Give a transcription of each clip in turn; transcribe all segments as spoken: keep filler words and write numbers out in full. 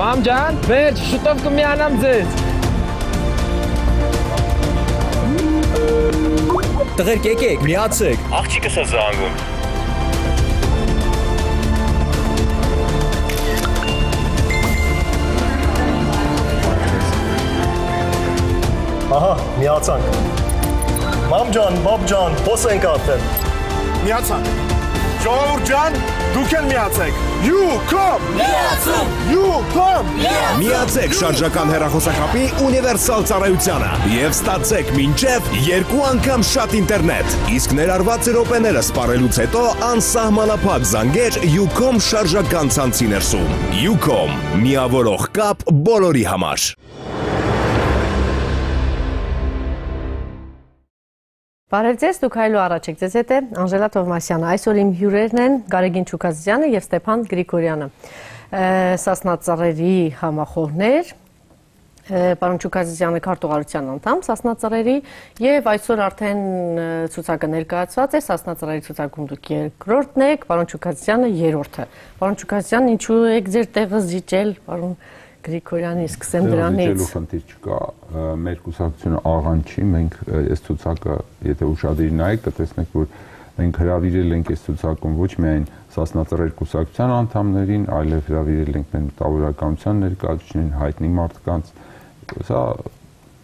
Մամ ջան, վերջ, շուտով կմիանամ ձեզ։ Տղերք եկեք, միացեք։ Աղջիկս է զանգում։ Ահա, միացանք։ Մամ ջան, բաբ ջան, հոս ենք արդեն։ Միացանք։ Ժողովուրդ ջան, դուք էլ միացեք։ You come։ Միացում։ You come։ Միացեք շարժական հեռախոսակապի ունիվերսալ ծառայությանը եւ ստացեք մինչեւ երկու անգամ շատ ինտերնետ։ Իսկ ներառված րոպեները սպառելուց հետո անսահմանափակ զանգեր Ucom շարժական ցանցի ներսում։ Ucom, միավորող կապ բոլորի համար։ Բարև ձեզ, դուք հայլու առաջ եք, ձեզ հետ է Անժելա Թովմասյանը, այսօր իմ հյուրերն են Գարեգին Չուկազյանը և Ստեփան Գրիգորյանը, Սասնա ծառերի համախոհներ, պարոն Չուկազյանը քարտուղարության անդամ Սասնա ծառերի և այսօր արդեն ցուցակը ներկայացված է, Սասնա ծառերի ցուցակում դուք երկրորդն եք, պարոն Չուկազյանը երրորդը, պարոն Չուկազյան, ինչու եք ձեր տեղը զիջել, պարոն Գրիգորյանի, սկսեմ դրանից։ Զիջելու խնդիր չկա, մեր կուսակցությունը աղան չի, մենք այս ցուցակը, եթե ուշադիր նայեք, կտեսնեք, որ մենք հրավիրել ենք այս ցուցակում ոչ միայն Սասնա ծառերի կուսակցության անդամներին, այլև հրավիրել ենք մեր մտավորականության ներկայացուցիչներին, հայտնի մարդկանց։ Սա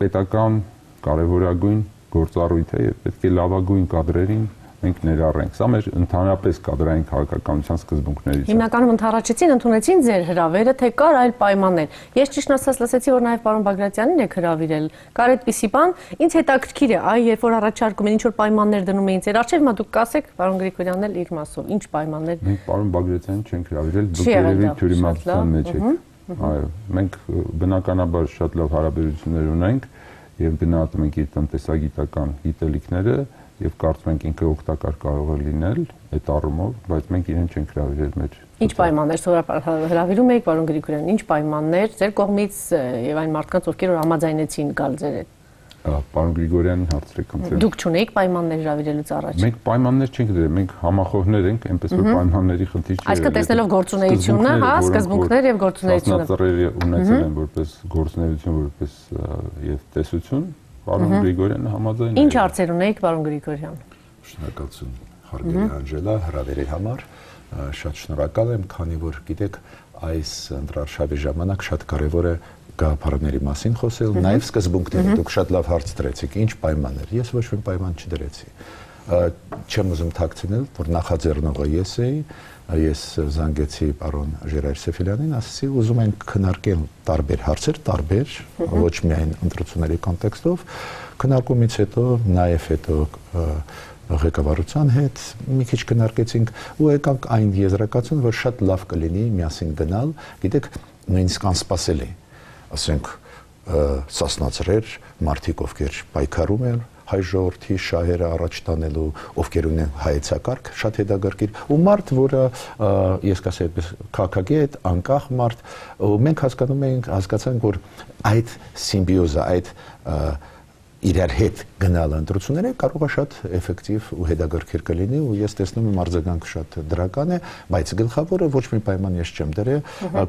պետական կարևորագույն գործառույթ է եւ պետք է լավագույն կադրերին մենք ներառենք։ Սա մեր ընդհանրապես կադրային քաղաքականության սկզբունքներից է։ Հիմնականում ընդառաջեցին, ընդունեցին ձեր հրավերը, թե կար այլ պայմաններ։ Ես ճիշտ ասած լսեցի, որ նաև պարոն Բագրատյանին եք հրավիրել։ Կար այդպիսի բան, ինձ հետաքրքիր է, այ երբ որ առաջարկում են, ինչ որ պայմաններ դնում էին ձեր առջև, հիմա դուք կասեք, պարոն Գրիգորյանն էլ իր մասով, ինչ պայմաններ։ Մենք պարոն Բագրատյանին չենք հրավիրել, դուք երևի թյուրիմացության մեջ եք։ Այո, մենք բնականաբար շատ լավ հարաբերություններ ունենք եւ գնահատում ենք իր տնտեսագիտական գիտելիքները եւ կարծում ենք ինքը օգտակար կարող է լինել այդ առումով, բայց մենք իրեն չենք հրավիրել մեր։ Ինչ պայմաններ սովորաբար հրավիրում եք, պարոն Գրիգորյան, ինչ պայմաններ ձեր կողմից եւ այն մարդկանց, ովքեր որ համաձայնեցին գալ ձեր հետ։ Պարոն Գրիգորյանին հարցրեք ոնց։ Դուք չունեիք պայմաններ հրավիրելուց առաջ։ Մենք պայմաններ չենք դրել, մենք համախոհներ ենք, այնպես որ պայմանների խնդիր չի։ Այսինքն տեսնելով գործունեությունը, հա, սկզբունքներ եւ գործունեությունը։ Սասնա ծառերը ունեցել են որպես գործունեություն, որպես եւ տեսություն, պարոն Գրիգորյանը համաձայն է։ Ինչ հարցեր ունեիք, պարոն Գրիգորյան։ Շնորհակալություն հարգելի Անժելա, հրավերի համար։ Շատ շնորհակալ եմ, քանի որ գիտեք, այս ընտրարշավի ժամանակ շատ կարևոր է գաղափարների մասին խոսել, նաև սկզբունքների։ Դուք շատ լավ հարց դրեցիք, ինչ պայմաններ։ Ես ոչ մի պայման չդրեցի։ Չեմ ուզում թաքցնել, որ նախաձեռնողը ես էի, ես զանգեցի պարոն Ժիրայր Սեֆիլյանին, ասացի, ուզում ենք քննարկել տարբեր հարցեր, տարբեր, ոչ միայն ընտրությունների կոնտեքստով, քննարկումից հետո, նաև հետո ղեկավարության հետ մի քիչ քննարկեցինք ու եկանք այն եզրակացուն, որ շատ լավ կլինի միասին գնալ, գիտեք, նույնիսկ անսպասելի, ասենք Սասնա ծռեր, մարդիկ ովքեր պայքարում են հայ ժողովրդի շահերը առաջ տանելու, ովքեր ունեն հայեցակարգ, շատ հետաքրքիր, ու մարդ, որը ես կասեի այդպես քաղաքագետ, անկախ մարդ, ու մենք հասկանում ենք, հասկացանք, որ այդ սիմբիոզը, այդ իրար հետ գնալը ընտրությունները կարող է շատ էֆեկտիվ ու հետաքրքիր կլինի ու ես տեսնում եմ արձագանքը շատ դրական է, բայց գլխավորը ոչ մի պայման ես չեմ դրել,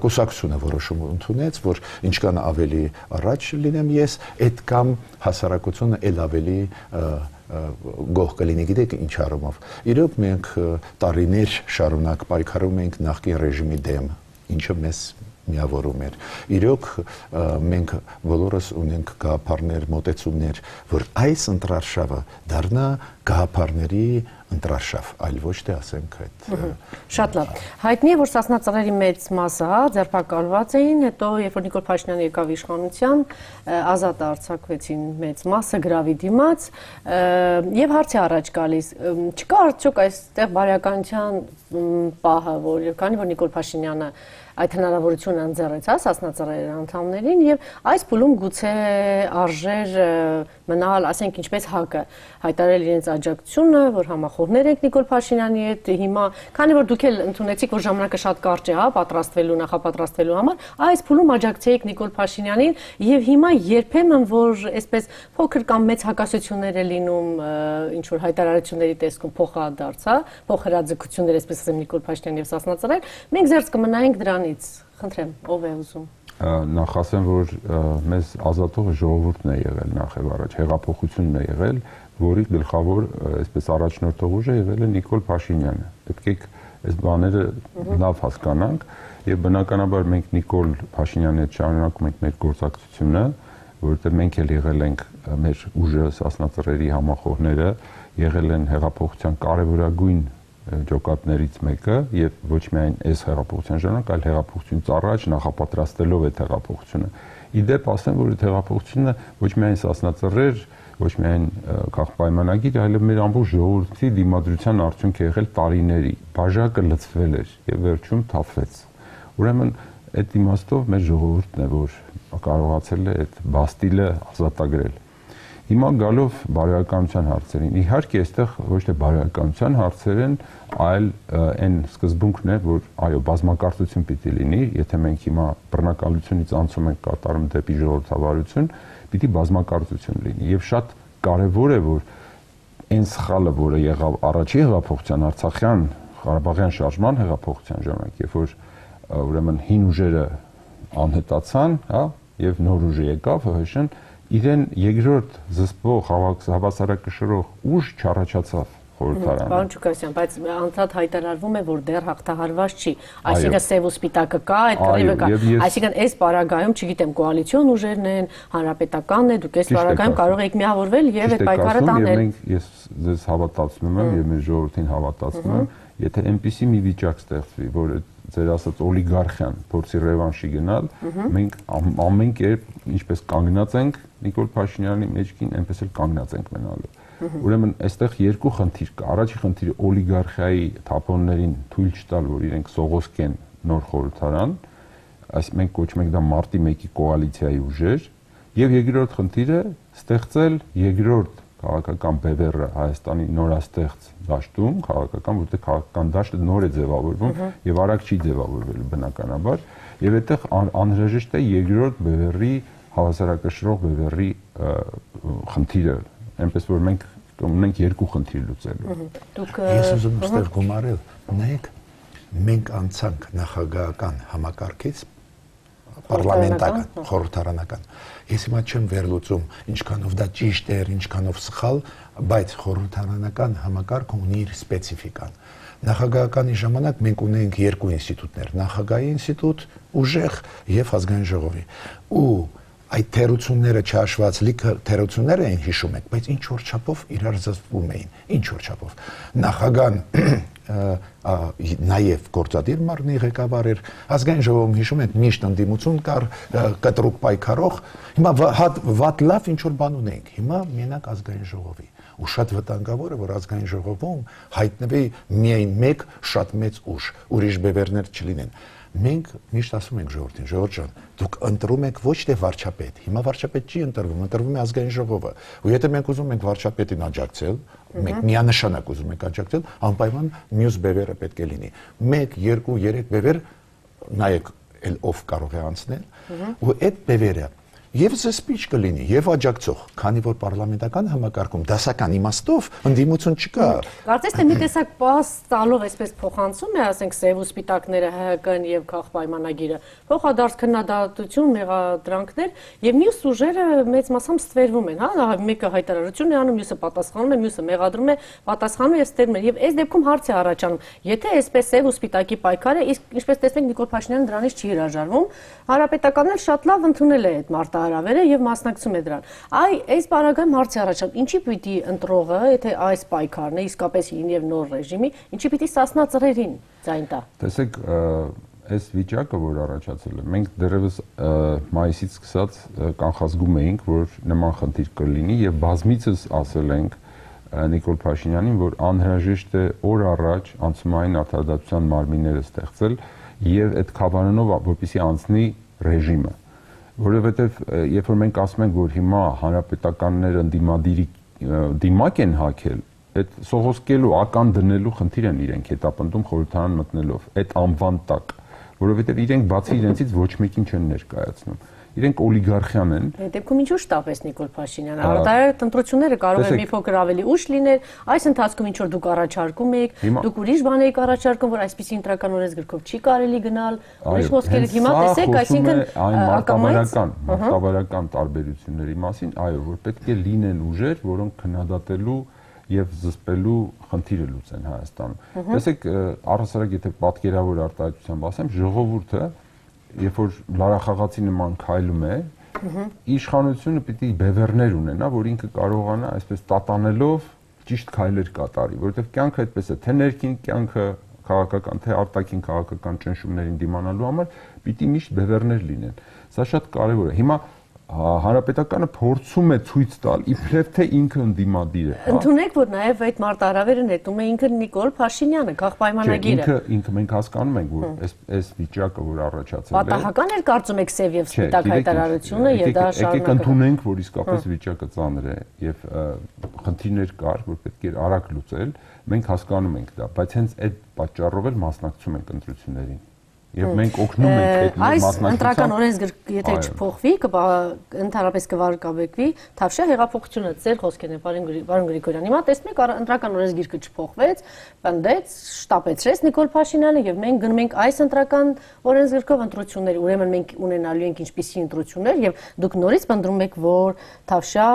կուսակցությունը որոշում ընդունեց, որ ինչքան ավելի առաջ լինեմ ես, այդ կամ հասարակությունը ել ավելի գոհ կլինի, գիտեք ինչ առումով։ Իրոք մենք տարիներ շարունակ պայքարում ենք նախկին ռեժիմի դեմ, ինչը մեզ միավորում էր։ Իրոք մենք բոլորս ունենք գաղափարներ, մոտեցումներ, որ այս ընտրարշավը դառնա գաղափարների ընտրարշավ, այլ ոչ թե ասենք այդ։ Շատ լավ։ Հայտնի է, որ Սասնա ծռերի մեծ մասը ձերբակալված էին, հետո երբ որ Նիկոլ Փաշինյանը եկավ իշխանության, ազատ արձակվեցին մեծ մասը գրավի դիմաց, եւ հարց է առաջ գալիս, չկա արդյոք այստեղ բարոյականության պահը, որ քանի որ Նիկոլ Փաշինյանը այդ հնարավորությունը ընձեռեց, հա, Սասնա ծռերի անդամներին եւ այս փուլում գուցե արժեր մնալ, ասենք ինչպես ՀԱԿ-ը հայտարարել իրենց աջակցությունը, որ համախոհներ ենք Նիկոլ Փաշինյանի հետ, հիմա քանի որ դուք էլ ընդունեցիք, որ ժամանակը շատ կարճ է, հա, պատրաստվելու, նախապատրաստվելու համար, այս փուլում աջակցեիք Նիկոլ Փաշինյանին եւ հիմա երբեմն որ այսպես փոքր կամ մեծ հակասություններ է լինում, ինչ որ հայտարարությունների տեսքում փոխադարձ, հա, փոխհրաձգություններ, այսպես ասեմ Նիկոլ Փաշինյանի եւ Սասնա ծռեր, մենք զերծ կմնայինք դրանից։ Խնդրեմ, ով է ուզում։ նախ ասեմ, որ մեզ ազատողը ժողովուրդն է եղել նախ եւ առաջ, հեղափոխությունն է եղել, որի գլխավոր, այսպես առաջնորդող ուժը եղել է Նիկոլ Փաշինյանը։ Պետք է այս բաները լավ հասկանանք եւ բնականաբար մենք Նիկոլ Փաշինյանի հետ շարունակում ենք մեր գործակցությունը, որովհետեւ մենք էլ եղել ենք մեր ուժը սասնածռերի համախոհները, եղել են հեղափոխության կարևորագույն ջոկատներից մեկը եւ ոչ միայն այս հեղափոխության ժամանակ, այլ հեղափոխությունից առաջ նախապատրաստելով այդ հեղափոխությունը։ Իդեպ ասեմ, որ այդ հեղափոխությունը ոչ միայն սասնածռեր, ոչ միայն քաղաքապայմանագիր, այլև մեր ամբողջ ժողովրդի դիմադրության արդյունք է եղել տարիների։ Բաժակը լցվել էր եւ վերջում թափվեց։ Ուրեմն այդ իմաստով մեր ժողովուրդն է, որ կարողացել է այդ բաստիլը ազատագրել։ Հիմա գալով բարոյականության հարցերին, իհարկե այստեղ ոչ թե բարոյականության հարցեր են, այլ այն սկզբունքն է, որ այո, բազմակարծություն պիտի լինի, եթե մենք հիմա բռնակալությունից անցում ենք կատարում դեպի ժողովրդավարություն, պիտի բազմակարծություն լինի։ Եվ շատ կարևոր է, որ այն սխալը, որը եղավ առաջի հեղափոխության, Արցախյան, Ղարաբաղյան շարժման հեղափոխության ժամանակ, երբ որ ուրեմն հին ուժերը անհետացան, հա, եւ նոր ուժը եկավ, ՀՀՇ-ն իրեն երկրորդ զսպող հավասարակշռող ուժ չառաջացավ խորհրդարանը։ Պարոն Ջուկասյան, բայց անդադ հայտարարվում է, որ դեռ հաղթահարված չի, այսինքն սև ու սպիտակը կա, այդ կռիվը կա, այսինքն այս պարագայում, չգիտեմ, կոալիցիոն ուժերն են, հանրապետականն է, դուք այս պարագայում կարող եք միավորվել եւ այդ պայքարը տանել։ Մենք ես ձեզ հավատացնում եմ եւ մեր ժողովրդին հավատացնում եմ, եթե այնպիսի մի վիճակ ստեղծվի, որ ձեր ասած օլիգարխիան փորձի ռևանշի գնալ, մենք ամեն կերպ ինչպես կանգնած ենք Նիկոլ Փաշինյանի մեջքին, այնպես էլ կանգնած ենք մնալու։ Ուրեմն այստեղ երկու խնդիր կա։ Առաջի խնդիրը օլիգարխիայի թափոններին թույլ չտալ, որ իրենք սողոսկեն նոր խորհրդարան, այս մենք կոչում ենք դա մարտի մեկի կոալիցիայի ուժեր, եւ երկրորդ խնդիրը ստեղծել երկրորդ քաղաքական բևեռը Հայաստանի նորաստեղծ դաշտում, քաղաքական, որտեղ քաղաքական դաշտը նոր է ձևավորվում եւ արագ չի ձևավորվելու բնականաբար, եւ այդտեղ անհրաժեշտ է երկրորդ բևեռի հավասարակշռող բևեռի խնդիրը, այնպես որ մենք ունենք երկու խնդիր լուծելու։ Ես ուզում եմ ստեղ գումարել, նայեք, մենք անցանք նախագահական համակարգից պարլամենտական, խորհրդարանական։ Ես հիմա չեմ վերլուծում ինչքանով դա ճիշտ էր, ինչքանով սխալ, բայց խորհրդարանական համակարգը ունի իր սպეციფიკան։ Նախագահականի ժամանակ մենք ունենք երկու ինստիտուտներ՝ նախագահի ինստիտուտ, ուժեղ եւ ազգային ժողովի։ Ու այդ թերությունները չհաշված լիքը թերություններ էին հիշում եք, բայց ինչ որ չափով իրար զսպում էին, ինչ որ չափով։ Նախագահան նաև գործադիր մարմնի ղեկավար էր, ազգային ժողովում հիշում եք միշտ ընդդիմություն կար, կտրուկ պայքարող, հիմա վատ լավ ինչ որ բան ունենք, հիմա մենակ ազգային ժողովի։ Ու շատ վտանգավոր է, որ ազգային ժողովում հայտնվի միայն մեկ շատ մեծ ուժ, ուրիշ բևեռներ չլինեն։ Մենք միշտ ասում ենք ժողովրդին, ժողովուրդ ջան, դուք ընտրում եք ոչ թե վարչապետ, հիմա վարչապետ չի ընտրվում, ընտրվում է ազգային ժողովը։ Ու եթե մենք ուզում ենք վարչապետին աջակցել, մենք միանշանակ ուզում ենք աջակցել, անպայման մյուս բևեռը պետք է լինի։ մեկ, երկու, երեք բևեռ, նայեք, էլ ով կարող է անցնել, ու այդ բևերը եւ զսպիչ կլինի եւ աջակցող, քանի որ պարլամենտական համակարգում դասական իմաստով ընդդիմություն չկա։ Կարծես թե մի տեսակ պաս տալով այսպես փոխանցում է, ասենք սև ու սպիտակները ՀՀԿ-ն եւ քաղաքապայմանագիրը, փոխադարձ քննադատություն, մեղադրանքներ եւ մյուս ուժերը մեծ մասամբ ստվերվում են, հա, մեկը հայտարարություն է անում, մյուսը պատասխանում է, մյուսը մեղադրում է, պատասխանում եւ ստերում է։ Եվ այս դեպքում հարց է առաջանում, եթե այսպես սև ու սպիտակի պայքարը, իսկ ինչպես տեսնենք Նիկոլ Փաշինյանը դրանից չի հրաժարվում, հանրապետականն էլ շատ լավ ընդունել է այդ մարտահրավերը հարավերը եւ մասնակցում է դրան։ Այ այս բaragայում հարցի առաջանում, ինչի պիտի ընտրողը, եթե այս պայքարն է իսկապես հին եւ նոր ռեժիմի, ինչի պիտի սասնա ծռերին ձայն տա։ Տեսեք, այս վիճակը, որ առաջացել է, մենք դեռևս մայիսից սկսած կանխազգում էինք, որ նման խնդիր կլինի եւ բազմիցս ասել ենք Նիկոլ Փաշինյանին, որ անհրաժեշտ է օր առաջ անցումային արտադրության մարմինները ստեղծել եւ այդ քավանանով որպեսզի անցնի ռեժիմը, որովհետեւ երբ որ մենք ասում ենք, որ հիմա հանրապետականները ընդդիմադիրի դիմակ են հակել, այդ սողոսկելու ական դնելու խնդիր են իրենք հետապնդում խորհրդարան մտնելով այդ անվան տակ, որովհետեւ իրենք բացի իրենցից ոչ մեկին չեն ներկայացնում։ իրենք օլիգարխիան են։ Այդ դեպքում ինչու շտապեց Նիկոլ Փաշինյանը։ Արտահայտ ընտրությունները կարող է մի փոքր ավելի ուշ լինել, այս ընթացքում ինչ որ դուք առաջարկում եք, դուք ուրիշ բան եք առաջարկում, որ այսպիսի ընտրական օրենսգրքով չի կարելի գնալ, ուրիշ խոսքեր եք հիմա տեսեք, այսինքն ակամայական, մարտավարական տարբերությունների մասին, այո, որ պետք է լինեն ուժեր, որոնք քննադատելու եւ զսպելու խնդիրը լուծեն Հայաստանում։ Տեսեք, առհասարակ եթե պատկերավոր արտահայտությամբ ասեմ, ժողովուրդը, երբ որ լարախաղացի նման քայլում է, իշխանությունը պիտի բևեռներ ունենա, որ ինքը կարողանա այսպես տատանելով ճիշտ քայլեր կատարի, որովհետեւ կյանքը այդպես է, թե ներքին կյանքը քաղաքական, թե արտաքին քաղաքական ճնշումներին դիմանալու համար պիտի միշտ բևեռներ լինեն։ Սա շատ կարեւոր է։ Հիմա Հանրապետականը փորձում է ցույց տալ իբրև թե ինքը ընդդիմադիր է։ Ընդունեք, որ նաև այդ մարտահրավերը նետում է ինքը Նիկոլ Փաշինյանը, քաղաքապայմանագիրը։ Ինքը ինքը մենք հասկանում ենք, որ այս այս վիճակը, որ առաջացել է, պատահական էր կարծում եք սև եւ սպիտակ հայտարարությունը եւ դա շարունակել։ Եկեք ընդունենք, որ իսկապես վիճակը ծանր է եւ խնդիրներ կար, որ պետք է արագ լուծել, մենք հասկանում ենք դա, բայց հենց այդ պատճառով էլ մասնակցում ենք ընտրություններին։ Եվ մենք օգնում ենք այդ մասնակցության։ Այս ընտրական օրենսգիրք եթե չփոխվի, ընդհանրապես կվարկաբեկվի Թավշյա հեղափոխությունը, ձեր խոսքերն են, պարոն Գրիգորյան։ Հիմա տեսնում եք, ընտրական օրենսգիրքը չփոխվեց, պնդեց, շտապեցրեց Նիկոլ Փաշինյանը եւ մենք գնում ենք այս ընտրական օրենսգիրքով ընտրություններ, ուրեմն մենք ունենալու ենք ինչպիսի ընտրություններ եւ դուք նորից պնդում եք, որ Թավշյա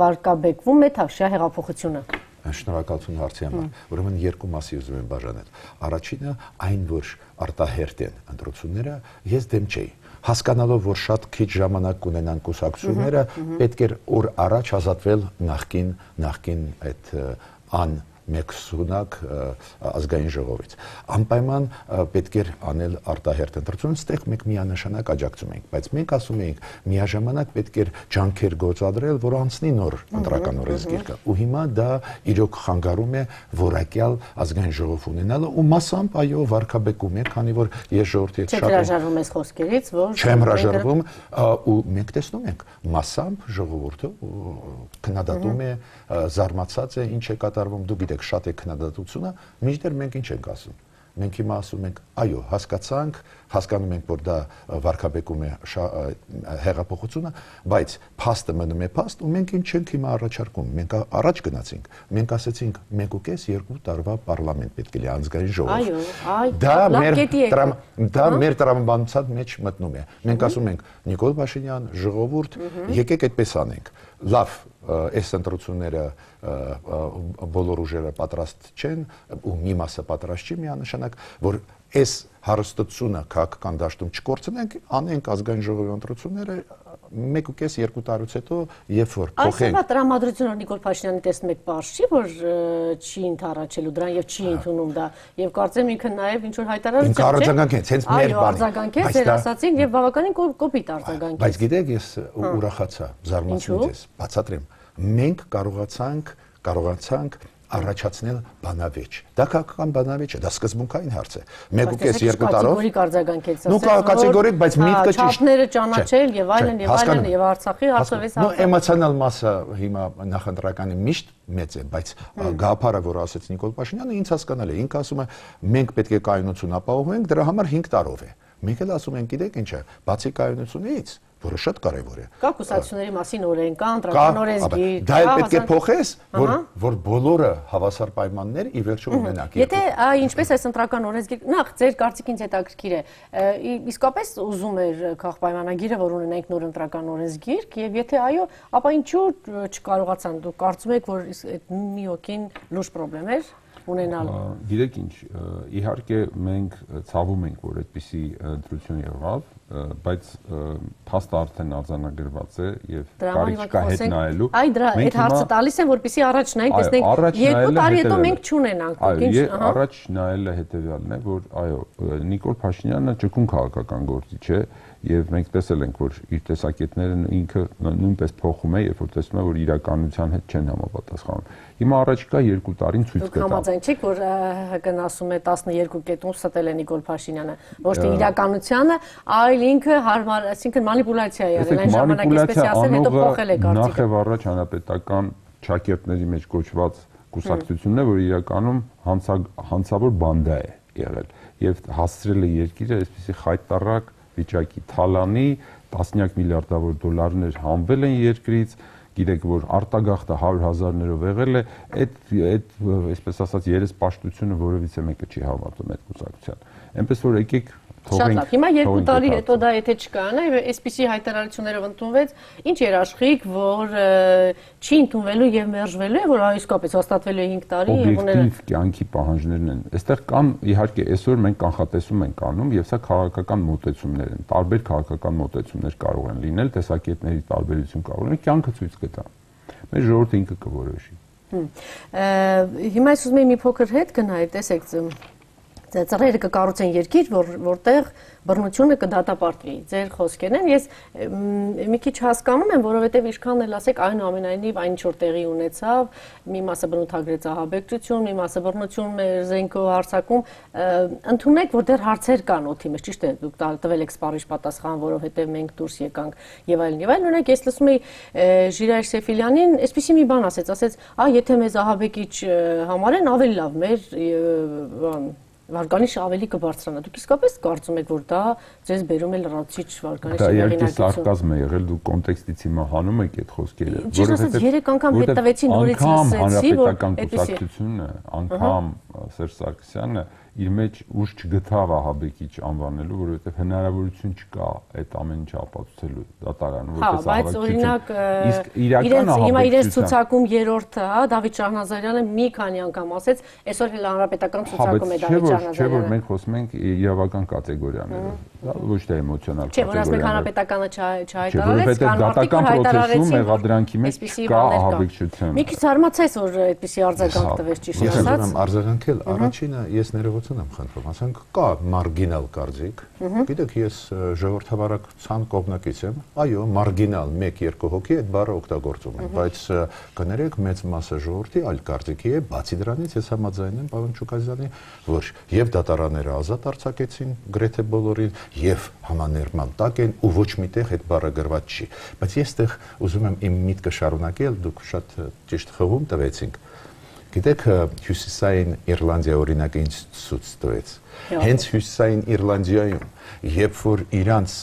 վարկաբեկվում է Թավշյա հեղափոխությունը։ Շնորհակալություն հարցի համար։ Ուրեմն երկու մասի ուզում եմ բաժանել։ Առաջինը այն, որ արտահերտ են ընտրությունները, ես դեմ չէի։ Հասկանալով, որ շատ քիչ ժամանակ կունենան կուսակցությունները, պետք էր օր առաջ ազատվել նախկին նախկին այդ ան մեկսունակ ազգային ժողովից։ Անպայման պետք էր անել արտահերտ ընտրություն, ստեղ մենք միանշանակ աջակցում ենք, բայց մենք ասում ենք միաժամանակ պետք էր ջանքեր գործադրել, որ անցնի նոր ընտրական օրենսգիրքը։ Ու հիմա դա իրոք խանգարում է որակյալ ազգային ժողով ունենալը ու մասամբ այո վարկաբեկում է, քանի որ ես ժողովրդի հետ շատ հրաժարվում ես խոսքերից, որ չեմ հրաժարվում ու մենք տեսնում ենք մասամբ ժողովուրդը քննադատում է, զարմացած է, ինչ է կատարվում, դու գիտեք շատ է քննադատությունը, մինչդեռ մենք ինչ ենք ասում։ Մենք հիմա ասում ենք, այո, հասկացանք, հասկանում ենք, որ դա վարկաբեկում է հեղափոխությունը, բայց փաստը մնում է փաստ ու մենք ինչ ենք հիմա առաջարկում։ Մենք առաջ գնացինք, մենք ասեցինք մեկ ու կես երկու տարվա պարլամենտ պետք է լինի ազգային ժողով։ Այո, այ դա մեր դա մեր տրամաբանության մեջ մտնում է։ Մենք ասում ենք Նիկոլ Փաշինյան, ժողովուրդ, եկեք այդպես անենք։ Լավ, այս ընտրությունները բոլոր ուժերը պատրաստ չեն ու մի մասը պատրաստ չի միանշանակ, որ այս հարստությունը քաղաքական դաշտում չկորցնենք, անենք ազգային ժողովի ընտրությունները մեկ ու կես երկու տարուց հետո, երբ որ փոխենք։ Այս տրամադրությունը Նիկոլ Փաշինյանի տեսնում եք պարզ չի, որ չի ընդառաջելու դրան եւ չի ընդունում դա եւ կարծեմ ինքը նաեւ ինչ որ հայտարարություն չէ։ Արձագանքեց, հենց մեր բանը։ Արձագանքեց, ձեր ասացին եւ բավականին կոպիտ արձագանքեց։ Բայց գիտեք, ես ուրախացա, զարմացա ես, բացատրեմ։ Մենք կարողացանք, կարողացանք առաջացնել բանավեճ։ Դա քաղաքական բանավեճ է, դա սկզբունքային հարց է։ մեկ ու կես երկու տարով։ Կատեգորիկ արձագանքեց, նու կատեգորիկ, բայց միտքը ճիշտ։ Չափները ճանաչել եւ այլն եւ այլն եւ Արցախի հարցովես հա։ Նու էմոցիոնալ մասը հիմա նախընտրականի միշտ մեծ է, բայց գաղափարը, որ ասեց Նիկոլ Փաշինյանը, ինձ հասկանալ է։ Ինքը ասում է, մենք պետք է կայունություն ապահովենք, դրա համար հինգ տարով է։ Մենք էլ ասում ենք, գիտեք ինչ է, բացի կայունությունից, որը շատ կարևոր է։ Կա կուսակցությունների մասին օրենք, կա ընտրական օրենսգիր։ Դա էլ պետք է փոխես, որ որ բոլորը հավասար պայմաններ ի վերջո ունենան։ Եթե ինչպես այս ընտրական օրենսգիր, նախ ձեր կարծիքից հետաքրքիր է, իսկապես ուզում էր քաղաքապայմանագիրը, որ ունենենք նոր ընտրական օրենսգիր, եւ եթե այո, ապա ինչու չկարողացան։ Դուք կարծում եք, որ այդ մի հոգին լուրջ խնդրեմ էր ունենալ։ Գիտեք ինչ, իհարկե մենք ցավում ենք, որ այդպիսի ընտրություն եղավ, բայց փաստը արդեն արձանագրված է եւ կարիք կա հետ նայելու։ Այ դրա այդ հարցը տալիս են, որպեսզի առաջ նայենք, տեսնենք երկու տարի հետո մենք չունենանք։ Այո, առաջ նայելը հետեւյալն է, որ այո, Նիկոլ Փաշինյանը ճկուն քաղաքական գործիչ է եւ մենք տեսել ենք, որ իր տեսակետները ինքը նույնպես փոխում է, երբ որ տեսնում է, որ իրականության հետ չեն համապատասխանում։ Հիմա առաջիկա երկու տարին ցույց կտա։ Դուք համաձայն չեք, որ ՀԿ-ն ասում է տասնյոթ կետում ստել է Նիկոլ Փաշինյանը, ոչ թե իրականությունը, այլ ինքը հարմար, այսինքն մանիպուլյացիա է եղել, այն ժամանակ այսպես ասել, հետո փոխել է կարծիքը։ Նախ եւ առաջ հանրապետական ճակերտների մեջ կոչված կուսակցությունն է, որ իրականում հանցավոր բանդա է եղել եւ հասցրել է երկիրը այսպեսի խայտարակ վիճակի թալանի, տասնյակ միլիարդավոր դոլարներ հանվել են երկրից, գիտեք, որ արտագաղթը հարյուր հազարներով եղել է, այդ այդ այսպես ասած երեսպաշտությունը որևիցե մեկը չի հավատում այդ կուսակցության։ Այնպես որ եկեք Շատ լավ, հիմա երկու տարի հետո դա եթե չկանա, այսպիսի հայտարարություններով ընդունվեց, ինչ երաշխիք, որ չի ընդունվելու եւ մերժվելու է, որ իսկապես հաստատվելու է հինգ տարի եւ ուները օբյեկտիվ կյանքի պահանջներն են։ Այստեղ կան իհարկե այսօր մենք կանխատեսում ենք անում եւ սա քաղաքական մոտեցումներ են։ Տարբեր քաղաքական մոտեցումներ կարող են լինել, տեսակետների տարբերություն կարող լինել, կյանքը ցույց կտա։ Մեր ժողովուրդը ինքը կորոշի։ Հիմա ես ուզում եմ մի փոքր հետ գնալ, տեսեք ծռերը կկառուցեն երկիր, որ որտեղ բռնությունը կդատապարտվի։ Ձեր խոսքերն են, ես մի քիչ հասկանում եմ, որովհետև ինչքան էլ ասեք, այնուամենայնիվ այն ինչ որ տեղի ունեցավ, մի մասը բնութագրեց ահաբեկչություն, մի մասը բռնություն զենքով հարձակում, ընդունեք, որ դեռ հարցեր կան օդի մեջ, ճիշտ է, դուք տվել եք սպառիչ պատասխան, որովհետև մենք դուրս եկանք եւ այլն եւ այլն։ Օրինակ ես լսում էի Ժիրայր Սեֆիլյանին, այսպեսի մի բան ասեց, ասեց, «Ա, եթե մեզ ահաբեկիչ համարեն, ավելի լավ, մեր բան Վարկանիշը ավելի կբարձրանա։ Դուք իսկապես կարծում եք, որ դա ձեզ բերում է լրացիչ վարկանիշի հեղինակություն։ Դա իհարկե սարկազմ է եղել, դուք կոնտեքստից հիմա հանում եք այդ խոսքերը։ Ճիշտ ասած, երեք անգամ հետ տվեցի նորից լսեցի, որ կուսակցությունը, անգամ Սերժ Սարգսյանը իր մեջ ուժ չգտավ ահաբեկիչ անվանելու, որովհետև հնարավորություն չկա այդ ամեն ինչը ապացուցելու դատարանը, որպես ահաբեկչություն։ Իսկ իրական ահաբեկչություն։ Հիմա իրենց ցուցակում երրորդը, հա, Դավիթ Շահնազարյանը մի քանի անգամ ասեց, այսօր էլ հանրապետական ցուցակում է Դավիթ Շահնազարյանը։ Չէ, որ մենք խոսում ենք իրավական կատեգորիաներով, ոչ թե էմոցիոնալ կատեգորիաներով։ Չէ, որ ասենք հանրապետականը չհայտարարեց, կան մարդիկ, որ հայտարարեցին մեղադրանքի մեջ կա ահաբեկչություն։ Մի քիչ զարմացած, որ այդպիսի արձագանք տվեց, ճիշտ ասած։ Ես ուզում եմ արձագանքել, առաջինը ես ներողություն եմ խնդրում, ասենք կա մարգինալ կարծիք, գիտեք, ես ժողովրդավարական կողմնակից եմ, այո, մարգինալ մեկ երկու հոգի այդ բառը օգտագործում են, բայց կներեք մեծ մասը ժողովրդի այլ կարծիքի է, բացի դրանից ես համաձայն եմ պարոն Շուկազյանի, որ եւ դատարանները ազատ արձակեցին գրեթե բոլորին, եւ համաներման տակ են ու ոչ միտեղ այդ բառը գրված չի, բայց ես այդտեղ ուզում եմ իմ միտքը շարունակել, դուք շատ ճիշտ խաղում տվեցինք։ Գիտեք, Հյուսիսային Իռլանդիա օրինակը ինձ ցույց տվեց։ Հենց Հյուսիսային Իռլանդիայում, երբ որ իրանց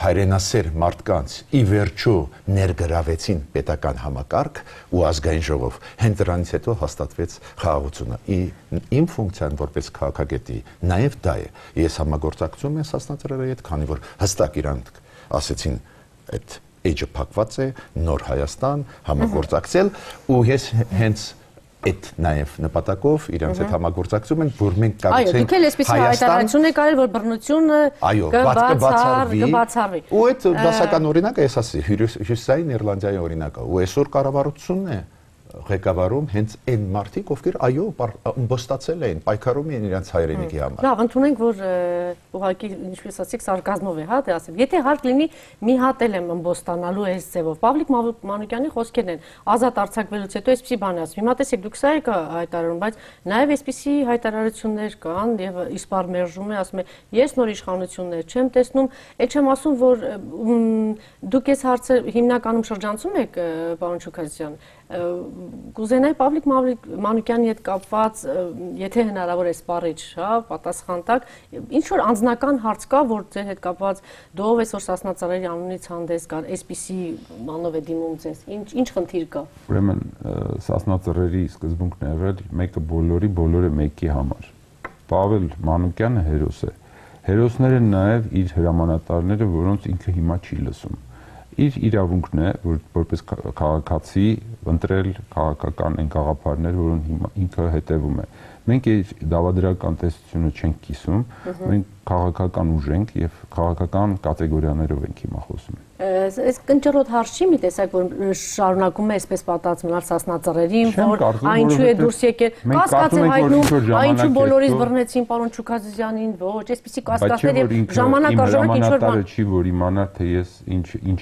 հայրենասեր մարդկանց ի վերջո ներգրավեցին պետական համակարգ ու ազգային ժողով, հենց դրանից հետո հաստատվեց խաղաղությունը։ Իմ ֆունկցիան որպես քաղաքագետի նաև դա է։ Ես համագործակցում եմ Սասնա ծռերի հետ, քանի որ հստակ իրանք ասեցին այդ էջը փակված է, նոր Հայաստան, համագործակցել ու ես հենց այդ նաև նպատակով իրանց հետ համագործակցում են, որ մենք կարողացենք Այո, դուք էլ այսպիսի հայտարարություն եք արել, որ բռնությունը կբացառվի։ Ու այդ դասական օրինակը ես ասի, Հյուսիսային Իռլանդիայի օրինակը, ու այսօր կառավարությունն է ղեկավարում հենց այն մարդիկ, ովքեր այո, ըմբոստացել էին, պայքարում էին իրենց հայրենիքի համար։ Լավ, ընդունենք, որ ուղղակի ինչպես ասեք, սարկազմով է, հա, դե ասեմ։ Եթե հարկ լինի, մի հատ էլ եմ ըմբոստանալու այս ձևով։ Պավլիկ Մանուկյանի խոսքերն են, ազատ արձակվելուց հետո այսպիսի բան է ասում։ Հիմա տեսեք, դուք սա եք հայտարարում, բայց նաև այսպիսի հայտարարություններ կան եւ իսպար մերժում է, ասում է, ես նոր իշխանություններ չեմ տեսնում, այդ չեմ ասում, որ դուք այս հարցը հիմնականում շրջանցում եք, պարոն Շուքազյան, կուզենայի Պավլիկ Մանուկյանի հետ կապված, եթե հնարավոր է սպառիչ, հա, պատասխան տակ, ինչ որ անձնական հարց կա, որ ձեր հետ կապված դու ով այսօր Սասնա ծռերի անունից հանդես գար, այսպիսի բանով է դիմում ձեզ, ինչ ինչ խնդիր կա։ Ուրեմն Սասնա ծռերի սկզբունքն է եղել մեկը բոլորի, բոլորը մեկի համար։ Պավել Մանուկյանը հերոս է։ Հերոսները նաև իր հրամանատարները, որոնց ինքը հիմա չի լսում։ Իր իրավունքն է, որ որպես քաղաքացի ընտրել քաղաքական այն գաղափարներ, որոնց հիմա ինքը հետևում է։ Մենք այդ դավադրական տեսությունը չենք կիսում, մենք քաղաքական ուժ ենք եւ քաղաքական կատեգորիաներով ենք հիմա խոսում։ Այս կնճռոտ հարց չի մի տեսակ, որ շարունակում է այսպես պատած մնալ Սասնա ծռերին, որ այնչու է դուրս եկել, կասկած է հայտնում, այնչու բոլորից բռնեցին պարոն Շուքազյանին, ոչ, այսպեսի կասկածներ եւ ժամանակ առ ժամանակ ինչ որ բան չի, որ իմանա թե ես ինչ ինչ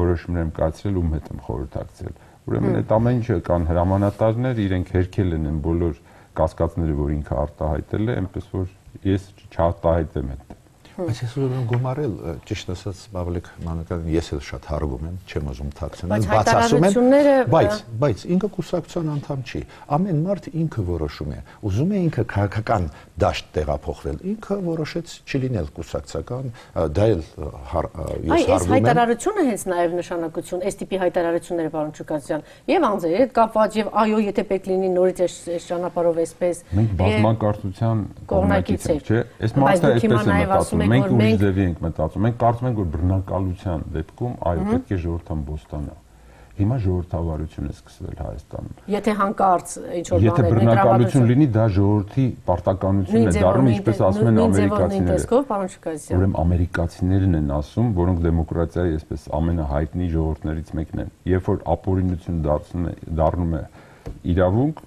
որոշումներ եմ կայացրել, ում հետ եմ խորհրդակցել։ Ուրեմն այդ ամեն ինչը կան հրամանատարներ, իրենք հերքել են բոլոր կասկածները, որ ինքը արտահայտել է, այնպես որ ես չարտահայտեմ այդ։ Բայց ես ուզում եմ գումարել, ճիշտ ասած, Բաբլիկ Մանուկյանին ես էլ շատ հարվում եմ, չեմ ուզում թաքցնել, բայց ասում եմ, բայց բայց ինքը կուսակցության անդամ չի։ Ամեն մարդ ինքը որոշում է։ Ուզում է ինքը քաղաքական դաշտ տեղափոխվել, ինքը որոշեց չլինել կուսակցական, դա էլ ես հարվում եմ։ Այս հայտարարությունը հենց նաև նշանակություն, այս տիպի հայտարարությունները, պարոն Չուկասյան, եւ անձերի հետ կապված, եւ այո, եթե պետք լինի նորից այս ճանապարհով այսպես։ Մենք բազմակարծության կողմնակից ենք, չէ՞։ Այս մարդը այսպես է մտածում, մենք ուրիշ ձևի ենք մտածում։ Մենք կարծում ենք, որ բռնակալության դեպքում այո, պետք է ժողովրդան բոստանա։ Հիմա ժողովրդավարություն է սկսվել Հայաստանում։ Եթե հանկարծ ինչ որ Եթե բռնակալություն լինի, դա ժողովրդի պարտականությունն է դառնում, ինչպես ասում են ամերիկացիները։ Ուրեմն ամերիկացիներն են ասում, որոնք դեմոկրատիայի այսպես ամենահայտնի ժողովուրդներից մեկն են։ Երբ որ ապօրինություն դարձնում է, դառնում է իրավունք,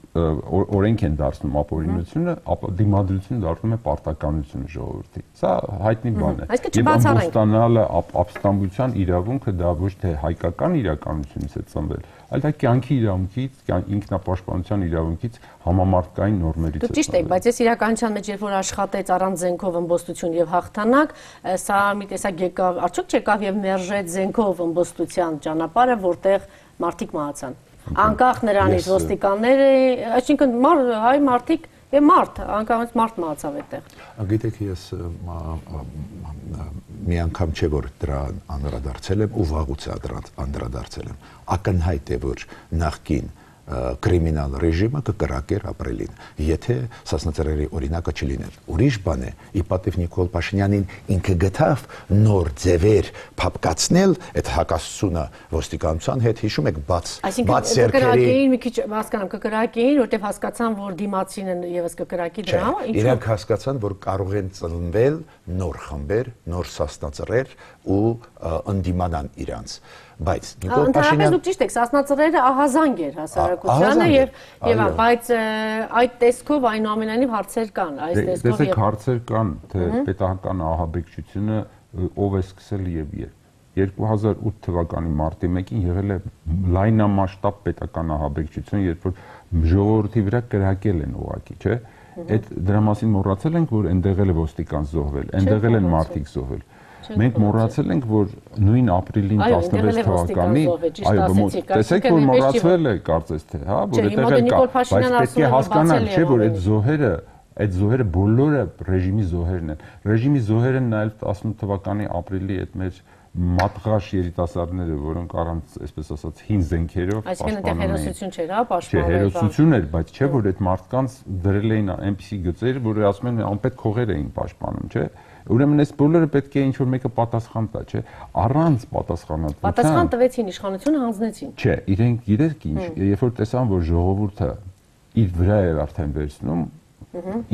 օրենք են դարձնում ապօրինությունը, ապա դիմադրությունը դառնում է պարտականությունը ժողովրդի։ Սա հայտնի բան է։ Եվ ամբողջանալը ապստամբության իրավունքը դա ոչ թե հայկական իրականությունից է ծնվել, այլ դա կյանքի իրավունքից, ինքնապաշտպանության իրավունքից համամարտկային նորմերից է։ Դուք ճիշտ եք, բայց ես իրականության մեջ երբ որ աշխատեց առանց զենքով ըմբոստություն եւ հաղթանակ, սա մի տեսակ եկավ, արդյոք չեկավ եւ մերժեց զենքով ըմբոստության ճանապարհը, որտեղ մարդիկ մահացան։ Անկախ նրանից ոստիկանները, այսինքն հայ մարդիկ եւ մարդ, անկախ մարդ մահացավ այդտեղ։ Գիտեք, ես մի անգամ չէ որ դրա անդրադարձել եմ ու վաղուց անդրադարձել եմ։ Ակնհայտ է որ նախկին կրիմինալ ռեժիմը կկրակեր ապրելին, եթե Սասնա-Ծռերի օրինակը չլիներ։ Ուրիշ բան է, ի պատիվ Նիկոլ Փաշինյանին ինքը գտավ նոր ձևեր փապկացնել այդ հակասությունը ոստիկանության հետ, հիշում եք, բաց բաց սերքերի։ Այսինքն մի քիչ հասկանամ, կկրակեին, որտեղ հասկացան, որ դիմացին են եւս կկրակի դրա, ինչու՞։ Իրանք հասկացան, որ կարող են ծնվել նոր խմբեր, նոր Սասնա-Ծռեր ու ընդդիմանան իրանց։ Բայց Նիկոլ Փաշինյանը դուք ճիշտ եք, Սասնա-Ծռերը ահազանգ էր հասարակությանը եւ եւ բայց այդ տեսքով այնուամենայնիվ հարցեր կան, այս տեսքով եւ հարցեր կան, թե պետական ահաբեկչությունը ով է սկսել եւ երբ։ երկու հազար ութ թվականի մարտի մեկին եղել է լայնամասշտաբ պետական ահաբեկչություն, երբ որ ժողովրդի վրա կրակել են ուղակի, չէ՞։ Այդ դրա մասին մոռացել ենք, որ այնտեղ էլ է ոստիկան զոհվել, այնտեղ էլ են մարդիկ զոհվել։ Մենք մոռացել ենք, որ նույն ապրիլին տասնվեց թվականի, այո, տեսեք, որ մոռացվել է, կարծես թե, հա, որ այդտեղ էլ կա, բայց պետք է հասկանալ, չէ, որ այդ զոհերը, այդ զոհերը բոլորը ռեժիմի զոհերն են։ Ռեժիմի զոհեր են նաև տասնութ թվականի ապրիլի այդ մեր մատղաշ երիտասարդները, որոնք առանց, այսպես ասած, հին զենքերով պաշտպանում էին։ Այսինքն հերոսություն չէր, հա, պաշտպանվել։ Չէ, հերոսություն էր, բայց չէ, որ այդ մարդկանց դրել էին այնպիսի գծեր, որ ասում են անպետք խողեր էին պաշտպանում, չէ։ Ուրեմն այս բոլորը պետք է ինչ-որ մեկը պատասխան տա, չէ, առանց պատասխանատվության։ Պատասխան տվեցին, իշխանությունը հանձնեցին։ Չէ, իրենք գիտեք ինչ, երբ որ տեսան, որ ժողովուրդը իր վրա էր արդեն վերցնում,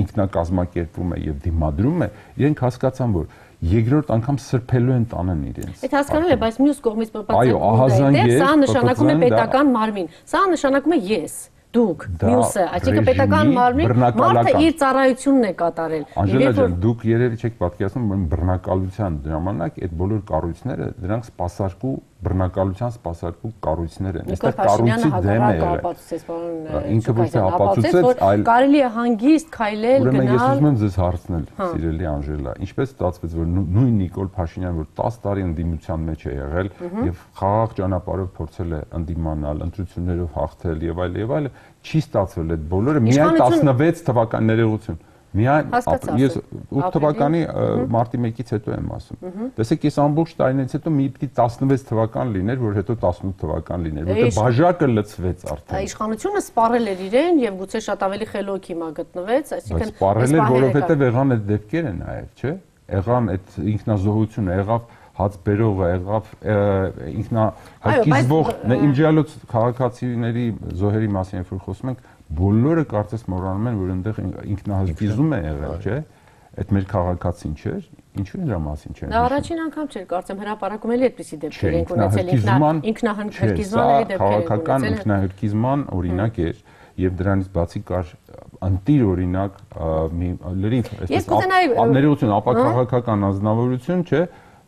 ինքնակազմակերպվում է եւ դիմադրում է, իրենք հասկացան, որ երկրորդ անգամ սրբելու են տանեն իրենց։ Այդ հասկանալի է, բայց մյուս կողմից պատասխանը, սա նշանակում է պետական մարմին, սա նշանակում է ես։ Դուք, մյուսը, այսինքն պետական մարմին մարդը իր ծառայությունն է կատարել։ Անժելա ջան, դուք երևի չեք պատկերացնում, որ բռնակալության ժամանակ այդ բոլոր կառույցները դրանք սպասարկու բռնակալության սպասարկու կառույցներ են։ Այստեղ կառույցի դեմ է եղել։ Ինքը ոչ թե ապացուցեց, այլ կարելի է հանգիստ քայլել, գնալ։ Ուրեմն ես ուզում եմ ձեզ հարցնել, սիրելի Անժելա, ինչպես ստացվեց, որ նույն Նիկոլ Փաշինյանը, որ տասը տարի ընդդիմության մեջ է եղել եւ խաղաղ ճանապարհով փորձել է ընդդիմանալ, ընտրություններով հաղթել եւ այլ եւ այլ, չի ստացվել այդ բոլորը միայն տասնվեց թվականի ներողություն։ Միայն ես ութ թվականի մարտի մեկից հետո եմ ասում։ Տեսեք, ես ամբողջ տարիներից հետո մի պիտի տասնվեց թվական լիներ, որ հետո տասնութ թվական լիներ, որտեղ բաժակը լցվեց արդեն։ Իշխանությունը սպառել էր իրեն եւ գուցե շատ ավելի խելոք հիմա գտնվեց, այսինքն սպառել էր, որովհետեւ եղան այդ դեպքերը նաեւ, չէ՞։ Եղան այդ ինքնազոհությունը, եղավ հաց բերողը, եղավ ինքնահարկիզվող, իմջալոց քաղաքացիների զոհերի մասին երբ որ խոսում ենք, բոլորը կարծես մոռանում են, որ այնտեղ ինքնահարկիզում է եղել, չէ՞։ Այդ մեր քաղաքացին չէր, ինչու նրա մասին չէ։ Դա առաջին անգամ չէր, կարծեմ հրապարակում էլի այդպիսի դեպքեր են ունեցել, ինքնահարկիզման դեպքեր են ունեցել։ Քաղաքական ինքնահարկիզման օրինակ էր, եւ դրանից բացի կար անտիր օրինակ մի լրիվ, այսպես ներողություն, ապա քաղաքական ազնվորություն, չէ,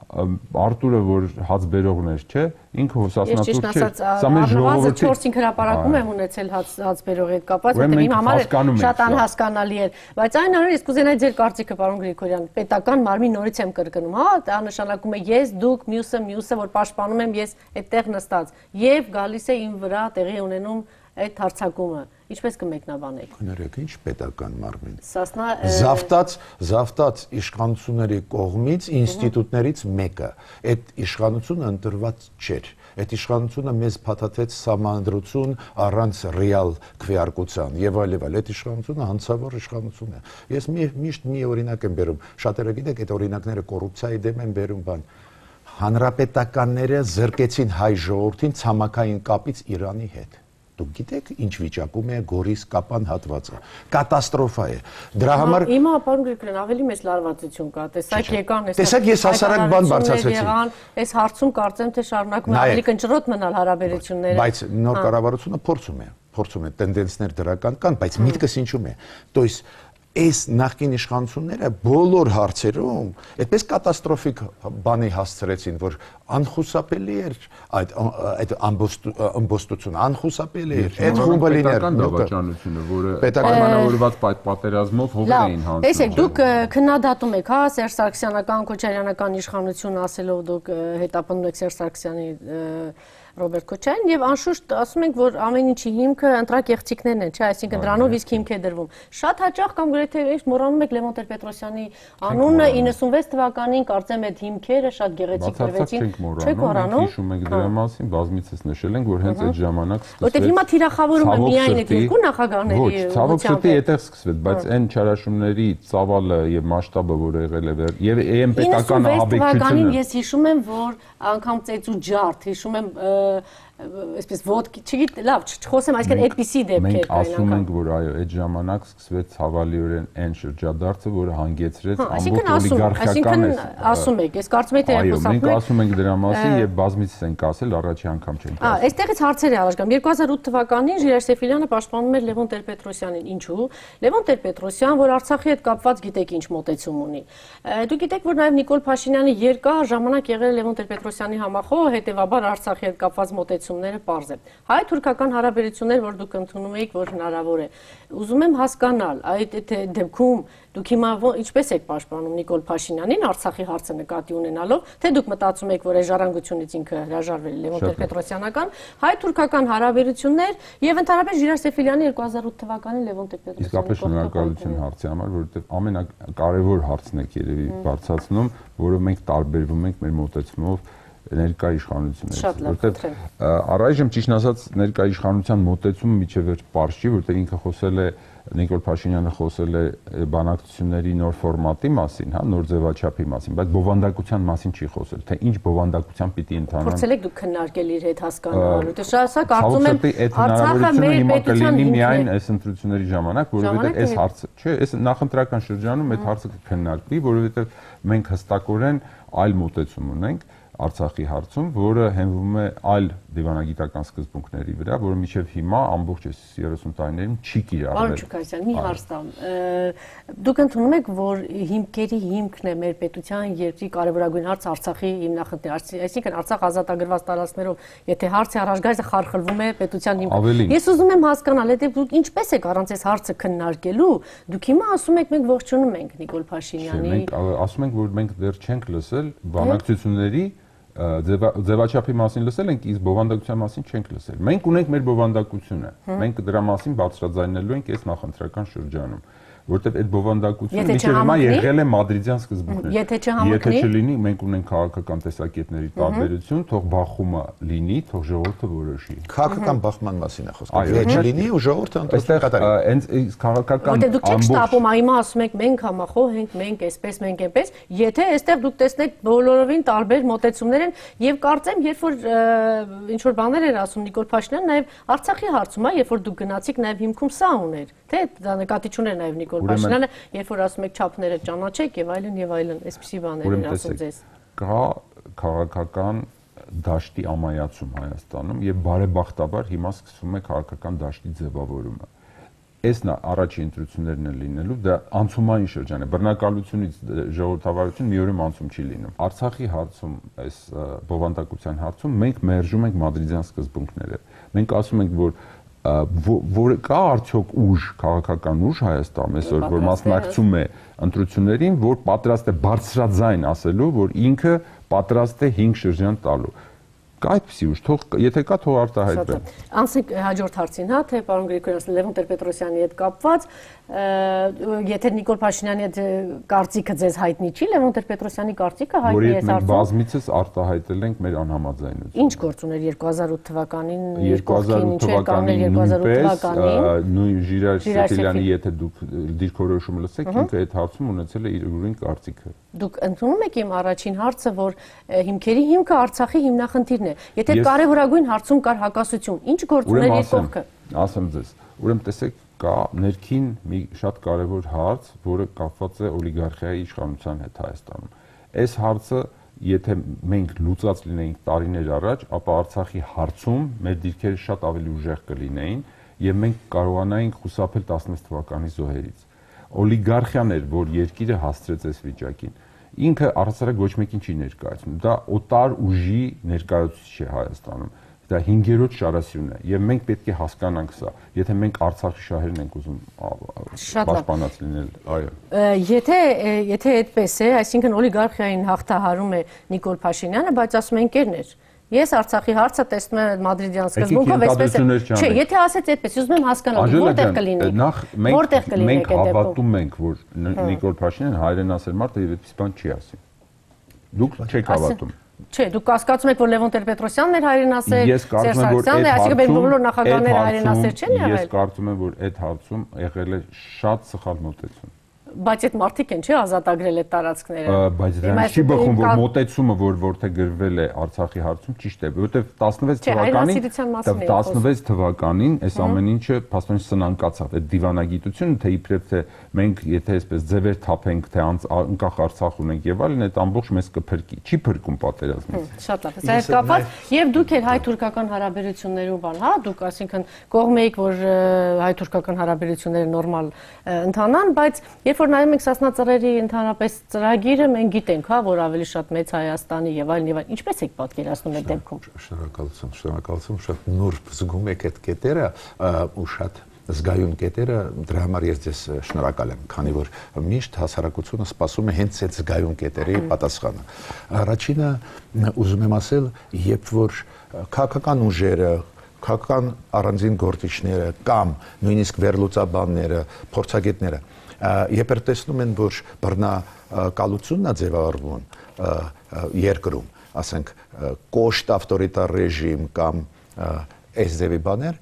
Արտուրը, որ հաց բերողներ չէ, ինքը հոսասնատուր չէ։ Սա մեր ժողովրդի չորս-հինգ հրապարակում եմ ունեցել հաց բերողի հետ կապված, որտեղ իմ համար շատ անհասկանալի էր։ Բայց այն առումով ես կուզենայի ձեր կարծիքը, պարոն Գրիգորյան, պետական մարմին նորից եմ կրկնում, հա, դա նշանակում է ես, դուք, մյուսը, մյուսը, որ պաշտպանում եմ ես այդտեղ նստած, եւ գալիս է իմ վրա տեղի ունենում այդ հարձակումը, ինչպես կմեկնաբանեք։ Կներեք, ինչ պետական մարմին։ Սասնա Զավտած, զավտած իշխանությունների կողմից ինստիտուտներից մեկը, այդ իշխանությունը ընտրված չէր։ Այդ իշխանությունը մեզ փաթաթեց սահմանադրություն առանց ռեալ քվեարկության եւ այլ եւ այլ։ Այդ իշխանությունը հանցավոր իշխանություն է։ Ես մի միշտ մի օրինակ եմ բերում։ Շատերը գիտեք, այդ օրինակները կոռուպցիայի դեմ են բերում բան։ Հանրապետականները զրկեցին հայ ժողովրդին ցամաքային կապից Իրանի հետ։ Դուք գիտեք ինչ վիճակում է Գորիս Կապան հատվածը։ Կատաստրոֆա է։ Դրա համար Հիմա պարոն Գրիգորյան ավելի մեծ լարվածություն կա։ Տեսակ եկան, տեսակ ես հասարակ բան բարձրացրեցի։ Այս հարցում կարծեմ թե շարունակում է ավելի կնճռոտ մնալ հարաբերությունները։ Բայց նոր կառավարությունը փորձում է, փորձում է տենդենսներ դրական կան, բայց միտքս ինչու՞մ է։ То есть այս նախկին իշխանությունները բոլոր հարցերում այդպես կատաստրոֆիկ բանի հասցրեցին, որ անխուսափելի էր այդ այդ ամբոստությունը, անխուսափելի էր։ Այդ խումբը լիներ պետական դավաճանությունը, որը պայմանավորված պատերազմով հողեր էին հանձնում։ Տեսեք, դուք քննադատում եք, հա, Սերժ Սարգսյանական, Քոչարյանական իշխանություն ասելով դուք հետապնդում եք Սերժ Սարգսյանի Ռոբերտ Քոչարյան եւ անշուշտ ասում ենք, որ ամեն ինչի հիմքը ընտրակեղծիքներն են, չէ, այսինքն դրանով իսկ հիմք է դրվում։ Շատ հաճախ կամ գրեթե ինչ մոռանում եք Լևոն Տեր-Պետրոսյանի անունը իննսունվեց թվականին, կարծեմ այդ հիմքերը շատ գեղեցիկ դրվեցին։ Չեք մոռանում։ Հիշում եք դրա մասին, բազմիցս նշել ենք, որ հենց այդ ժամանակ սկսվեց։ Որտեղ հիմա թիրախավորում է միայն այդ երկու նախագահների Ոչ, ցավոք սրտի այդտեղ սկսվեց, բայց այն չարաշումների ծավալը եւ մասշտաբը, որը եղել է եւ այն պետական ահաբեկչությունը։ Ես հիշում եմ, որ անգամ ծեծու ջարդ, հիշում եմ այսպես ոդկի, չգիտեմ, լավ, չխոսեմ, այսինքն այդպիսի դեպքեր կային։ Մենք ասում ենք, որ այո, այդ ժամանակ սկսվեց ցավալիորեն այն շրջադարձը, որը հանգեցրեց ամբողջ օլիգարխիական այս։ Այսինքն ասում եք, ես կարծում եմ թե այո, մենք ասում ենք դրա մասին եւ բազմիցս ենք ասել, առաջի անգամ չենք ասել։ Ահա, այստեղից հարցեր է առաջ գամ։ երկու հազար ութ թվականին Ժիրայր Սեֆիլյանը պաշտպանում էր Լևոն Տեր-Պետրոսյանին։ Ինչու՞։ Լևոն Տեր-Պետրոսյան, որ Արցախի հետ կապված գիտեք ինչ մոտեցում ունի։ Դուք գիտեք, որ նաեւ Նիկոլ Փաշինյանը երկար ժամանակ եղել է Լևոն Տեր-Պետրոսյանի համախոհ, հետեւաբար Արցախի հետ կապված մոտեցումները պարզ է։ Հայ-թուրքական հարաբերություններ, որ դուք ընդունում եք, որ հնարավոր է։ Ուզում եմ հասկանալ, այդ դեպքում դուք հիմա ինչպես եք պաշտպանում Նիկոլ Փաշինյանին Արցախի հարցը նկատի ունենալով, թե դուք մտածում եք, որ այս ժառանգությունից ինքը հրաժարվել է Լևոն Տեր-Պետրոսյանական, հայ-թուրքական հարաբերություններ եւ ընդհանրապես Ժիրայր Սեֆիլյանի երկու հազար ութ թվականին Լևոն Տեր-Պետրոսյանի։ Իսկապես շնորհակալություն հարցի համար, որովհետեւ ամենակարևոր հարցն եք երևի բարձրացնում, որը մենք տարբերվում ենք մեր մոտեցումով ներկա իշխանություններից, որտեղ առայժմ ճիշտ ասած ներկա իշխանության մոտեցումը միջև վերջ պարզ չի, որտեղ ինքը խոսել է Նիկոլ Փաշինյանը խոսել է բանակցությունների նոր ֆորմատի մասին, հա, նոր ձևաչափի մասին, բայց բովանդակության մասին չի խոսել, թե ինչ բովանդակությամբ պիտի ընթանան։ Փորձել եք դուք քննարկել իր հետ հասկանալու, թե շահասա կարծում եմ Արցախը մեր պետության միայն այս ընտրությունների ժամանակ, որովհետև այս հարցը, չէ, այս նախընտրական շրջանում այդ հարցը կքննարկվի, որովհետև մենք հստակորեն այլ մոտեցում ունենք Արցախի հարցում, որը հենվում է այլ դիվանագիտական սկզբունքների վրա, որը մինչև հիմա ամբողջ այս երեսուն տարիներին չի կիրառվել։ Պարոն Չուկասյան, մի հարց տամ։ Դուք ընդունում եք, որ հիմքերի հիմքն է մեր պետության երկրի կարևորագույն հարց Արցախի հիմնախնդիրը, այսինքն Արցախ ազատագրված տարածքներով, եթե հարցը առաջ գա, խարխլվում է պետության հիմքը։ Ես ուզում եմ հասկանալ, եթե դուք ինչպես եք առանց այս հարցը քննարկելու, դուք հիմա ասում եք մենք ողջունում ենք Նիկոլ Փաշինյանի։ Մենք ասում ենք, որ մենք դեռ չենք լսել բանակցությունների ձևաչափի մասին լսել ենք, իսկ բովանդակության մասին չենք լսել։ Մենք ունենք մեր բովանդակությունը։ Մենք դրա մասին բարձրաձայնելու ենք այս նախընտրական շրջանում, որտեղ այդ բովանդակությունը մինչև հիմա եղել է մադրիդյան սկզբունքներ։ Եթե չհամընկնի, եթե չլինի, մենք ունենք քաղաքական տեսակետների տարբերություն, թող բախումը լինի, թող ժողովուրդը որոշի։ Քաղաքական բախման մասին է խոսքը։ Եթե չլինի, ու ժողովուրդը այստեղ հենց քաղաքական դուք չեք շտապում, հիմա ասում եք մենք համախոհ ենք, մենք այսպես, մենք այնպես, եթե այստեղ դուք տեսնեք բոլորովին տարբեր մոտեցումներ են եւ կարծեմ, երբ որ ինչ որ բաներ էր ասում Նիկոլ Փաշինյանը, նաեւ Արցախի հարցում, երբ որ դուք գնացիք, նաեւ հիմքում սա ուներ, թե դա նկատի չուներ նաեւ Նիկոլ Փաշինյանը, երբ որ ասում եք չափները ճանաչեք եւ այլն եւ այլն, այսպիսի բաներ են ասում ձեզ։ Կա քաղաքական դաշտի ամայացում Հայաստանում եւ բարեբախտաբար հիմա սկսվում է քաղաքական դաշտի ձևավորումը։ այս առաջին ընտրություններն են լինելու, դա անցումային շրջան է, բռնակալությունից ժողովրդավարություն մի օրում անցում չի լինում։ Արցախի հարցում, այս բովանդակության հարցում մենք մերժում ենք մադրիդյան սկզբունքները։ Մենք ասում ենք, որ որ կա արդյոք ուժ, քաղաքական ուժ Հայաստանում այսօր, որ մասնակցում է ընտրություններին, որ պատրաստ է բարձրաձայն ասելու, որ ինքը պատրաստ է հինգ շրջան տալու։ Կա այդպիսի ուժ, թող եթե կա, թող արտահայտվի։ Անցնենք հաջորդ հարցին, հա, թե պարոն Գրիգորյան, Լևոն Տեր-Պետրոսյանի հետ կապված, եթե Նիկոլ Փաշինյանի հետ կարծիքը ձեզ հայտնի չի, Լևոն Տեր-Պետրոսյանի կարծիքը հայտնի է հարցում։ Որ մենք բազմիցս արտահայտել ենք մեր անհամաձայնությունը։ Ինչ գործ ուներ երկու հազար ութ թվականին, երկու հազար ութ թվականին նույնպես նույն Ժիրայր Սեֆիլյանի եթե դուք դիրքորոշումը լսեք, ինքը այդ հարցում ունեցել է իր ուրույն կարծիքը։ Դուք ընդունում եք իմ առաջին հարցը, որ հիմքերի հիմքը Արցախի հիմնախնդիրն է։ Եթե կարևորագույն հարցում կար հակասություն, ինչ գործ ուներ երկողքը։ Ասեմ ձեզ, ուրեմն տեսեք, կա ներքին մի շատ կարևոր հարց, որը կապված է օլիգարխիայի իշխանության հետ Հայաստանում։ Այս հարցը, եթե մենք լուծած լինեինք տարիներ առաջ, ապա Արցախի հարցում մեր դիրքերը շատ ավելի ուժեղ կլինեին եւ մենք կարողանայինք խուսափել տասնվեց թվականի զոհերից։ Օլիգարխիան էր, որ երկիրը հասցրեց այս վիճակին։ Ինքը առհասարակ ոչ մեկին չի ներկայացնում։ Դա օտար ուժի ներկայացուցիչ է Հայաստանում։ Դա հինգերորդ շարասյունն է եւ մենք պետք է հասկանանք սա, եթե մենք Արցախի շահերն ենք ուզում պաշտպանած լինել, այո։ Եթե եթե այդպես է, այսինքն օլիգարխիային հաղթահարում է Նիկոլ Փաշինյանը, բայց ասում են կերներ։ Ես Արցախի հարցը տեսնում եմ մադրիդյան սկզբունքով, այսպես է։ Չէ, եթե ասեց այդպես, ուզում եմ հասկանալ, որտեղ կլինի։ Նախ մենք հավատում ենք, որ Նիկոլ Փաշինյանը հայրենասեր մարդ է եւ այդպես բան չի ասի։ Դուք չեք հավատում։ Չէ, դուք կասկածում եք, որ Լևոն Տեր-Պետրոսյանն էր հայրենասեր, Ես կարծում եմ, որ այդ այսինքն բոլոր նախագահները հայրենասեր չեն եղել։ Ես կարծում եմ, որ այդ հարցում եղել է շատ սխալ մոտեցում։ Բայց այդ մարդիկ են, չէ, ազատագրել այդ տարածքները։ Բայց դրանից չի բխում, որ մոտեցումը, որ որտեղ գրվել է Արցախի հարցում, ճիշտ է, որովհետև տասնվեց թվականին, տասնվեց թվականին այս ամեն ինչը փաստորեն սնանկացավ, այդ դիվանագիտությունը, թե իբրև թե մենք եթե այսպես ձևեր թափենք, թե անկախ Արցախ ունենք եւ այլն, այդ ամբողջ մեզ կփրկի, չի փրկում պատերազմից։ Շատ լավ։ Սա հետ կապված եւ դուք էլ հայ-թուրքական հարաբերություններով բան, հա, դուք այսինքն կողմ եք, որ հայ-թուրքական հարաբերությունները նորմալ ընթանան, բայց երբ որ նայում ենք Սասնա ծռերի ընդհանրապես ծրագիրը, մենք գիտենք, հա, որ ավելի շատ մեծ Հայաստանի եւ այլն եւ այլն, ինչպես եք պատկերացնում այդ դեպքում։ Շնորհակալություն, շնորհակալություն, շատ նուրբ զգում եք այդ կետերը ու շատ զգայուն կետերը, դրա համար ես ձեզ շնորհակալ եմ, քանի որ միշտ հասարակությունը սպասում է հենց այդ զգայուն կետերի պատասխանը։ Առաջինը ուզում եմ ասել, երբ որ քաղաքական ուժերը, քաղաքական առանձին գործիչները կամ նույնիսկ վերլուծաբանները, փորձագետները երբ որ տեսնում են, որ բռնակալությունն է ձևավորվում երկրում, ասենք կոշտ ավտորիտար ռեժիմ կամ այս ձևի բաներ,